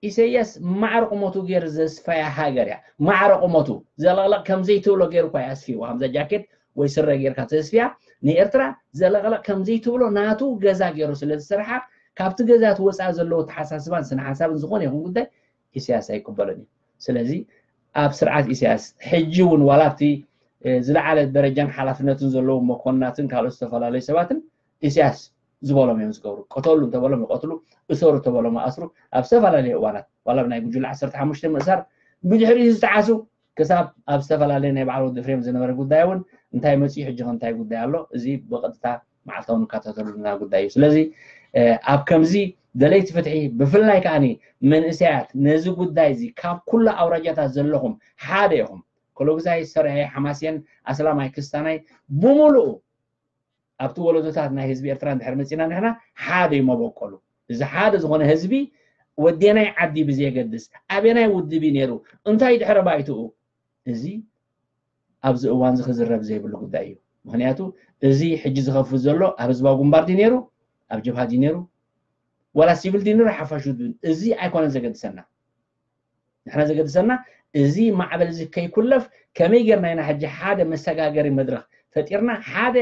ኢሰያስ ማዕረ ቁመቱ ገይሩ ዘስፈያ ሃገር እያ። ማዕረ ቁመቱ ዘለቕለቕ ከምዘይትብሎ ገይሩ እኳ ኣስፊዋ። ከምዛ ጃኬት ወይ ስረ ጌርካ ተስፍያ ንኤርትራ ዘለቕለቕ ከምዘይትብሎ ናቱ ገዛ ገይሩ ስለ ዝሰርሓ ካብቲ ገዛ እቲ ወፃኢ ዘለዎ ተሓሳስባን ስነ ሓሳብን ዝኾነ ይኹን ጉዳይ ኢሳያስ ኣይቅበሎን እዩ። ስለዚ ኣብ ስርዓት ኢሳያስ ሕጂ እውን ዋላ ኣብቲ ዝለዓለ ደረጃን ሓላፍነትን ዘለዎም መኮንናትን ካልኦት ዝተፈላለዩ ሰባትን ኢሳያስ ዝበሎም እዮም ዝገብሩ። ቅተሉ እንተበሎም ይቐትሉ፣ እሰሩ እንተበሎም ይኣስሩ። ኣብ ዝተፈላለዩ እዋናት ዋላ ናይ ጉጅለ ዓሰርተ ሓሙሽተ ምእሳር ብድሕሪኡ ዝተዓሱ ክሳብ ኣብ ዝተፈላለየ ናይ በዓል ወዲ ፍሬም ዝነበረ ጉዳይ እውን እንታይ መፅዩ ሕጂ ከ እንታይ ጉዳይ ኣሎ እዚ ብቐጥታ መዓልታዊ ንከታተሉ ዘለና ጉዳይ እዩ። ስለዚ ኣብ ከምዚ ደለይቲ ፍትሒ ብፍላይ ከዓኒ መንእሰያት ነዚ ጉዳይ እዚ ካብ ኩሉ ኣውራጃታት ዘለኹም ሓደ ኢኹም። ኮሎግዛይ፣ ሰርሀ፣ ሓማሴን፣ ኣስላማይ፣ ክስታናይ ብምሉኡ ኣብቲ ወለዶታት ናይ ህዝቢ ኤርትራ እንድሕር መፂና ንሕና ሓደ እዩ መበቆሉ። እዚ ሓደ ዝኾነ ህዝቢ ወዴናይ ዓዲ ብዘየገድስ ኣበናይ ውድብ እዩ ነይሩ እንታይ ድሕረ ባይትኡ እዚ ኣብዚ እዋን እዚ ክዝረብ ዘይብሉ ጉዳይ እዩ። ምክንያቱ እዚ ሕጂ ዝኸፍት ዘሎ ኣብ ህዝባዊ ግንባር ድዩ ነይሩ ኣብ ጀብሃ ድዩ ነይሩ ዋላ ሲቪል ድዩ ነይሩ ሓፋሽ ውድብ እዚ ኣይኮነን ዘገድሰና። ንሕና ዘገድሰና እዚ ማዕበል እዚ ከይኩለፍ ከመይ ጌርና ኢና ሕጂ ሓደ መሰጋገሪ መድረኽ ፈጢርና ሓደ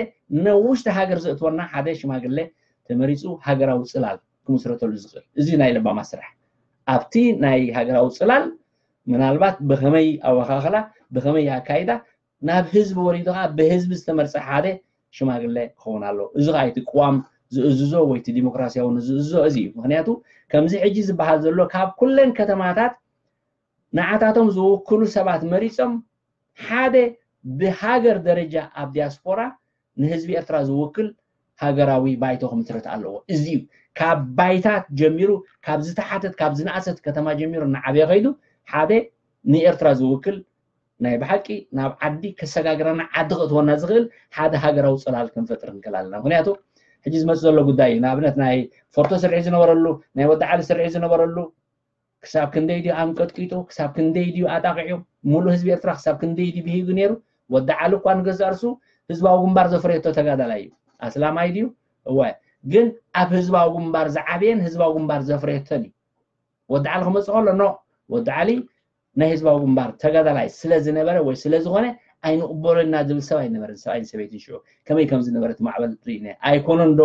ነውሽቲ ሃገር ዘእትወና ሓደ ሽማግለ ተመሪፁ ሃገራዊ ፅላል ክምስረተሉ ዝኽእል እዚ ናይ ለባማ ስራሕ ኣብቲ ናይ ሃገራዊ ፅላል ምናልባት ብኸመይ ኣወኻኽላ ብኸመይ ኣካይዳ ናብ ህዝቢ ወሪዱ ከዓ ብህዝቢ ዝተመርፀ ሓደ ሽማግለ ክኸውን ኣለዎ። እዚ ከዓ እቲ ቅዋም ዝእዝዞ ወይ እቲ ዲሞክራሲያዊ ዝእዝዞ እዚ እዩ። ምክንያቱ ከምዚ ሕጂ ዝበሃል ዘሎ ካብ ኩለን ከተማታት ንዓታቶም ዝውክሉ ሰባት መሪፆም ሓደ ብሃገር ደረጃ ኣብ ዲያስፖራ ንህዝቢ ኤርትራ ዝውክል ሃገራዊ ባይቶ ክምስረት ኣለዎ። እዚ እዩ ካብ ባይታ ጀሚሩ፣ ካብ ዝተሓተት ካብ ዝነኣሰት ከተማ ጀሚሩ እናዓበየ ከይዱ ሓደ ንኤርትራ ዝውክል ናይ ብሓቂ ናብ ዓዲ ከሰጋግረና ዓዲ ክእትወና ዝኽእል ሓደ ሃገራዊ ጽላል ክንፈጥር ንክእል ኣለና። ምክንያቱ ሕጂ ዝመጽእ ዘሎ ጉዳይ እዩ። ንኣብነት ናይ ፎርቶ ስርሒት ዝነበረሉ፣ ናይ ወዲ ዓሊ ስርሒት ዝነበረሉ ክሳብ ክንደይ ድዩ ኣንቀጥቂጡ፣ ክሳብ ክንደይ ድዩ ኣጣቂዑ፣ ሙሉእ ህዝቢ ኤርትራ ክሳብ ክንደይ ድዩ ብሂጉ ነይሩ። ወዲ ዓሊ እኳ ንገዛእ ርሱ ህዝባዊ ግንባር ዘፍረየቶ ተጋዳላይ እዩ። ኣስላማይ ድዩ? እወ። ግን ኣብ ህዝባዊ ግንባር ዝዓበየን ህዝባዊ ግንባር ዘፍረየቶን እዩ። ወዲ ዓሊ ክመፅእ ከሎ ኖ፣ ወዲ ዓሊ ናይ ህዝባዊ ግንባር ተጋዳላይ ስለ ዝነበረ ወይ ስለ ዝኾነ ኣይንቕበሎና ዝብል ሰብ ኣይነበረን። ሰብኣይን ሰበይትን ሽዑ ከመይ ከም ዝነበረት ማዕበል ርኢና ኣይኮነን ዶ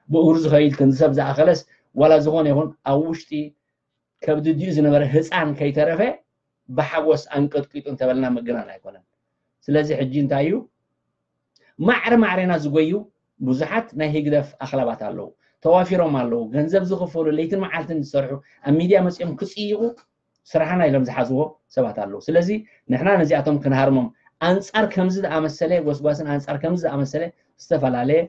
ብእግሩ ዝኸይድ ክንዲ ሰብ ዝኣኸለስ ዋላ ዝኾነ ይኹን ኣብ ውሽጢ ከብዲ ዲኡ ዝነበረ ህፃን ከይተረፈ ብሓጎስ ኣንቀጥቂጡ እንተበልና ምግናን ኣይኮነን። ስለዚ ሕጂ እንታይ እዩ ማዕረ ማዕሬና ዝጎዩ ብዙሓት ናይ ህግደፍ ኣኽላባት ኣለዉ፣ ተዋፊሮም ኣለዉ፣ ገንዘብ ዝኽፈሉ ለይትን መዓልትን ዝሰርሑ ኣብ ሚድያ መፂኦም ክፅይቑ ስራሕና ኢሎም ዝሓዝዎ ሰባት ኣለዉ። ስለዚ ንሕና ነዚኣቶም ክንሃርሞም ኣንፃር ከምዚ ዝኣመሰለ ጎስጓስን ኣንፃር ከምዚ ዝኣመሰለ ዝተፈላለየ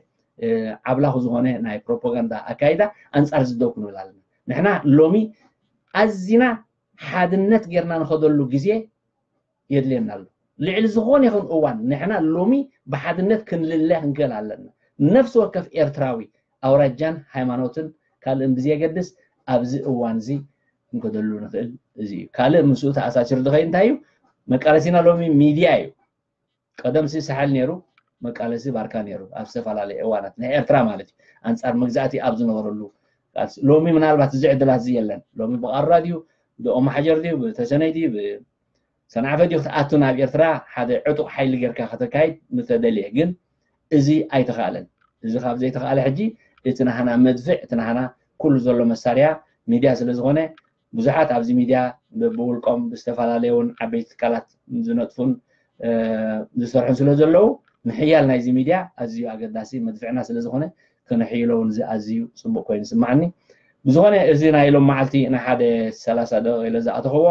ዓብላኹ ዝኾነ ናይ ፕሮፓጋንዳ ኣካይዳ ኣንፃር ዝደው ክንብል ኣለና። ንሕና ሎሚ ኣዚና ሓድነት ጌርና ንኸደሉ ግዜ የድልየና ኣሎ። ልዕሊ ዝኾነ ይኹን እዋን ንሕና ሎሚ ብሓድነት ክንልለ ክንክእል ኣለና። ነፍሲ ወከፍ ኤርትራዊ ኣውራጃን ሃይማኖትን ካልእን ብዘየገድስ ኣብዚ እዋን እዚ ክንከደሉ ንኽእል እዚ እዩ። ካልእ ምስኡ ተኣሳሲሩ ዝኸይድ እንታይ እዩ? መቃለሲና ሎሚ ሚድያ እዩ። ቀደም ሲ ሳሕል ነይሩ፣ መቃለሲ ባርካ ነይሩ ኣብ ዝተፈላለየ እዋናት ናይ ኤርትራ ማለት እዩ። ኣንጻር መግዛእቲ ኣብ ዝነበረሉ ቃልሲ። ሎሚ ምናልባት እዚ ዕድላት እዚ የለን። ሎሚ ብቓራ ድዩ፣ ብኦማሓጀር ድዩ፣ ብተሰነይ ድዩ፣ ብሰንዓፈ ድዩ ክትኣቱ ናብ ኤርትራ ሓደ ዕጡቕ ሓይሊ ጌርካ ከተካይድ ምተደልየ። ግን እዚ ኣይተኻእለን። እዚ ካብ ዘይተኻእለ ሕጂ እቲ ናህና መድፍዕ፣ እቲ ናህና ኩሉ ዘሎ መሳርያ ሚድያ ስለ ዝኾነ ብዙሓት ኣብዚ ሚድያ ብውልቆም ብዝተፈላለየ እውን ዓበይቲ ትካላት ዝነጥፉን ዝሰርሑን ስለ ዘለዉ ምሕያል ናይዚ ሚድያ ኣዝዩ ኣገዳሲ መድፍዕና ስለ ዝኾነ ክነሕይሎ እውን እዚ ኣዝዩ ፅቡቅ ኮይኑ ይስማዓኒ። ብዝኾነ እዚ ናይ ሎም መዓልቲ ንሓደ ሰላሳ ደቂቕ ኢለ ዝኣተኽዎ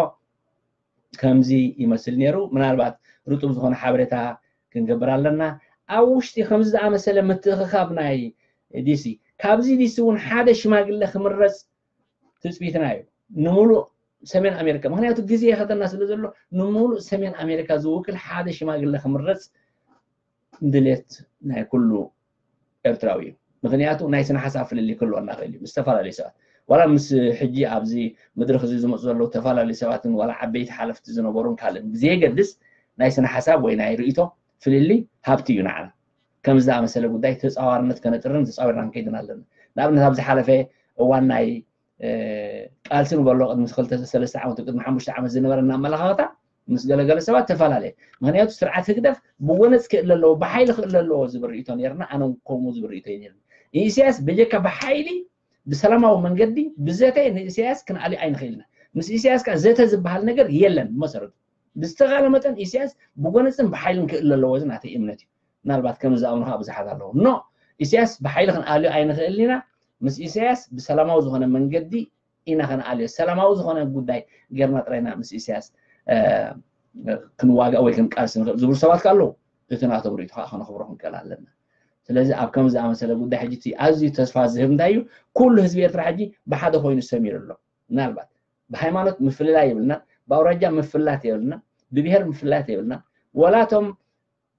ከምዚ ይመስል ነይሩ። ምናልባት ርጡብ ዝኾነ ሓበሬታ ክንገብር ኣለና። ኣብ ውሽጢ ከምዚ ዝኣመሰለ ምትእኽኻብ ናይ ዲሲ ካብዚ ዲሲ እውን ሓደ ሽማግለ ክምረፅ ትፅቢትና እዩ ንምሉእ ሰሜን ኣሜሪካ። ምክንያቱ ግዜ የኸተና ስለ ዘሎ ንምሉእ ሰሜን ኣሜሪካ ዝውክል ሓደ ሽማግለ ክምረፅ ድሌት ናይ ኩሉ ኤርትራዊ እዩ። ምክንያቱ ናይ ስነ ሓሳብ ፍልልይ ክህልወና ክእል እዩ ምስ ዝተፈላለዩ ሰባት ዋላ ምስ ሕጂ ኣብዚ መድረክ እዚ ዝመፁ ዘለዉ ዝተፈላለዩ ሰባትን ዋላ ዓበይቲ ሓለፍቲ ዝነበሩን ካልእን ብዘየገድስ ናይ ስነ ሓሳብ ወይ ናይ ርእቶ ፍልልይ ሃብቲ እዩ ንዓና። ከም ዝኣመሰለ ጉዳይ ተፃዋርነት ከነጥርን ተፃዊርና ንከይድን ኣለና። ንኣብነት ኣብ ዝሓለፈ እዋን ናይ ቃልሲ ንበሎ ቅድሚ ክልተ ሰለስተ ዓመት ቅድሚ ሓሙሽተ ዓመት ዝነበረና ኣመለኻኽታ ምስ ገለገለ ሰባት ተፈላለየ። ምክንያቱ ስርዓት ህግደፍ ብወነፅ ክእል ኣለዎ ብሓይሊ ክእል ኣለዎ ዝብል ርእቶ ነርና። ኣነ ከምኡ ዝብል ርእቶ ነርኒ። ንኢሳያስ በጀካ ብሓይሊ ብሰላማዊ መንገዲ ብዘተ ንኢሳያስ ክንኣልዮ ኣይንኽእልና። ምስ ኢሳያስ ከዓ ዘተ ዝበሃል ነገር የለን። ብመሰረቱ ብዝተኻለ መጠን ኢሳያስ ብጎነፅን ብሓይልን ክእል ኣለዎ እዚ ናተይ እምነት እዩ። ምናልባት ከም ዝኣምኑ ከዓ ብዙሓት ኣለዉ። ኖ ኢሳያስ ብሓይሊ ክንኣልዮ ኣይንኽእልን ኢና። ምስ ኢሳያስ ብሰላማዊ ዝኾነ መንገዲ ኢና ከነኣልዮ ሰላማዊ ዝኾነ ጉዳይ ጌርና ጥራይና ምስ ኢሳያስ ክንዋጋእ ወይ ክንቃልስ ንኽእል ዝብሉ ሰባት ኣለዉ። እቲ ናቶም ርእቶ ከዓ ከነኽብሮ ክንክእል ኣለና። ስለዚ ኣብ ከም ዝኣመሰለ ጉዳይ ሕጂ እቲ ኣዝዩ ተስፋ ዝህብ እንታይ እዩ? ኩሉ ህዝቢ ኤርትራ ሕጂ ብሓደ ኮይኑ ሰሚሩ ኣሎ። ምናልባት ብሃይማኖት ምፍልላይ የብልና፣ ብኣውራጃ ምፍላት የብልና፣ ብብሄር ምፍላት የብልና። ወላቶም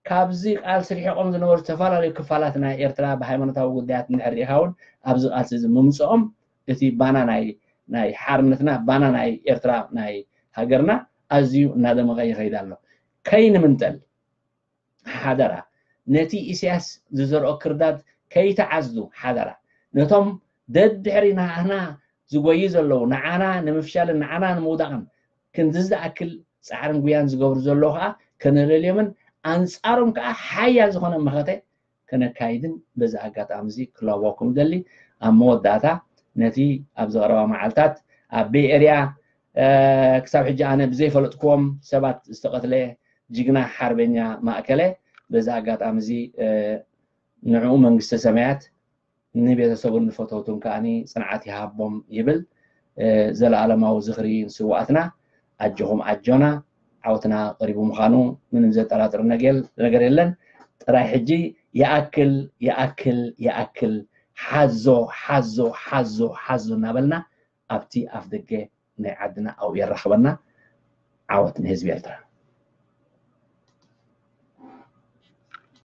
ካብዚ ቃልሲ ርሒቖም ዝነበሩ ዝተፈላለዩ ክፋላት ናይ ኤርትራ ብሃይማኖታዊ ጉዳያት እንድሕር ርኢኻ እውን ኣብዚ ቃልሲ እዚ ምምፅኦም እቲ ባና ናይ ናይ ሓርነትና ባና ናይ ኤርትራ ናይ ሃገርና ኣዝዩ እናደመቐ ይኸይድ ኣሎ። ከይንምንጠል ሓደራ ነቲ ኢሳያስ ዝዘርኦ ክርዳድ ከይተዓዝዱ ሓደራ ነቶም ደድሕሪ ናህና ዝጎዩ ዘለዉ ንዓና ንምፍሻልን ንዓና ንምውዳቕን ክንዲ ዝኣክል ፃዕርን ጉያን ዝገብሩ ዘለዉ ከዓ ከነለልዮምን ኣንፃሮም ከዓ ሓያል ዝኾነ መኸተ ከነካይድን በዚ ኣጋጣሚ እዚ ክላዋኩም ደሊ። ኣብ መወዳእታ ነቲ ኣብዚ ቀረባ መዓልታት ኣብ ቤይ ኤርያ ክሳብ ሕጂ ኣነ ብዘይፈለጥክዎም ሰባት ዝተቐትለ ጅግና ሓርበኛ ማእከለ። በዚ ኣጋጣሚ እዚ ንዕኡ መንግስተ ሰማያት ንቤተሰቡን ንፈተውቱን ከዓኒ ጽንዓት ይሃቦም ይብል። ዘለኣለማዊ ዝኽሪ ንስውኣትና። ኣጆኹም ኣጆና፣ ዓወትና ቀሪቡ ምዃኑ ምንም ዘጠራጥር ነገር የለን። ጥራይ ሕጂ ይኣክል ይኣክል ይኣክል፣ ሓዞ ሓዞ ሓዞ ሓዞ እናበልና ኣብቲ ኣፍ ደገ ናይ ዓድና ኣብኡ የራኽበና። ዓወት ንህዝቢ ኤርትራ።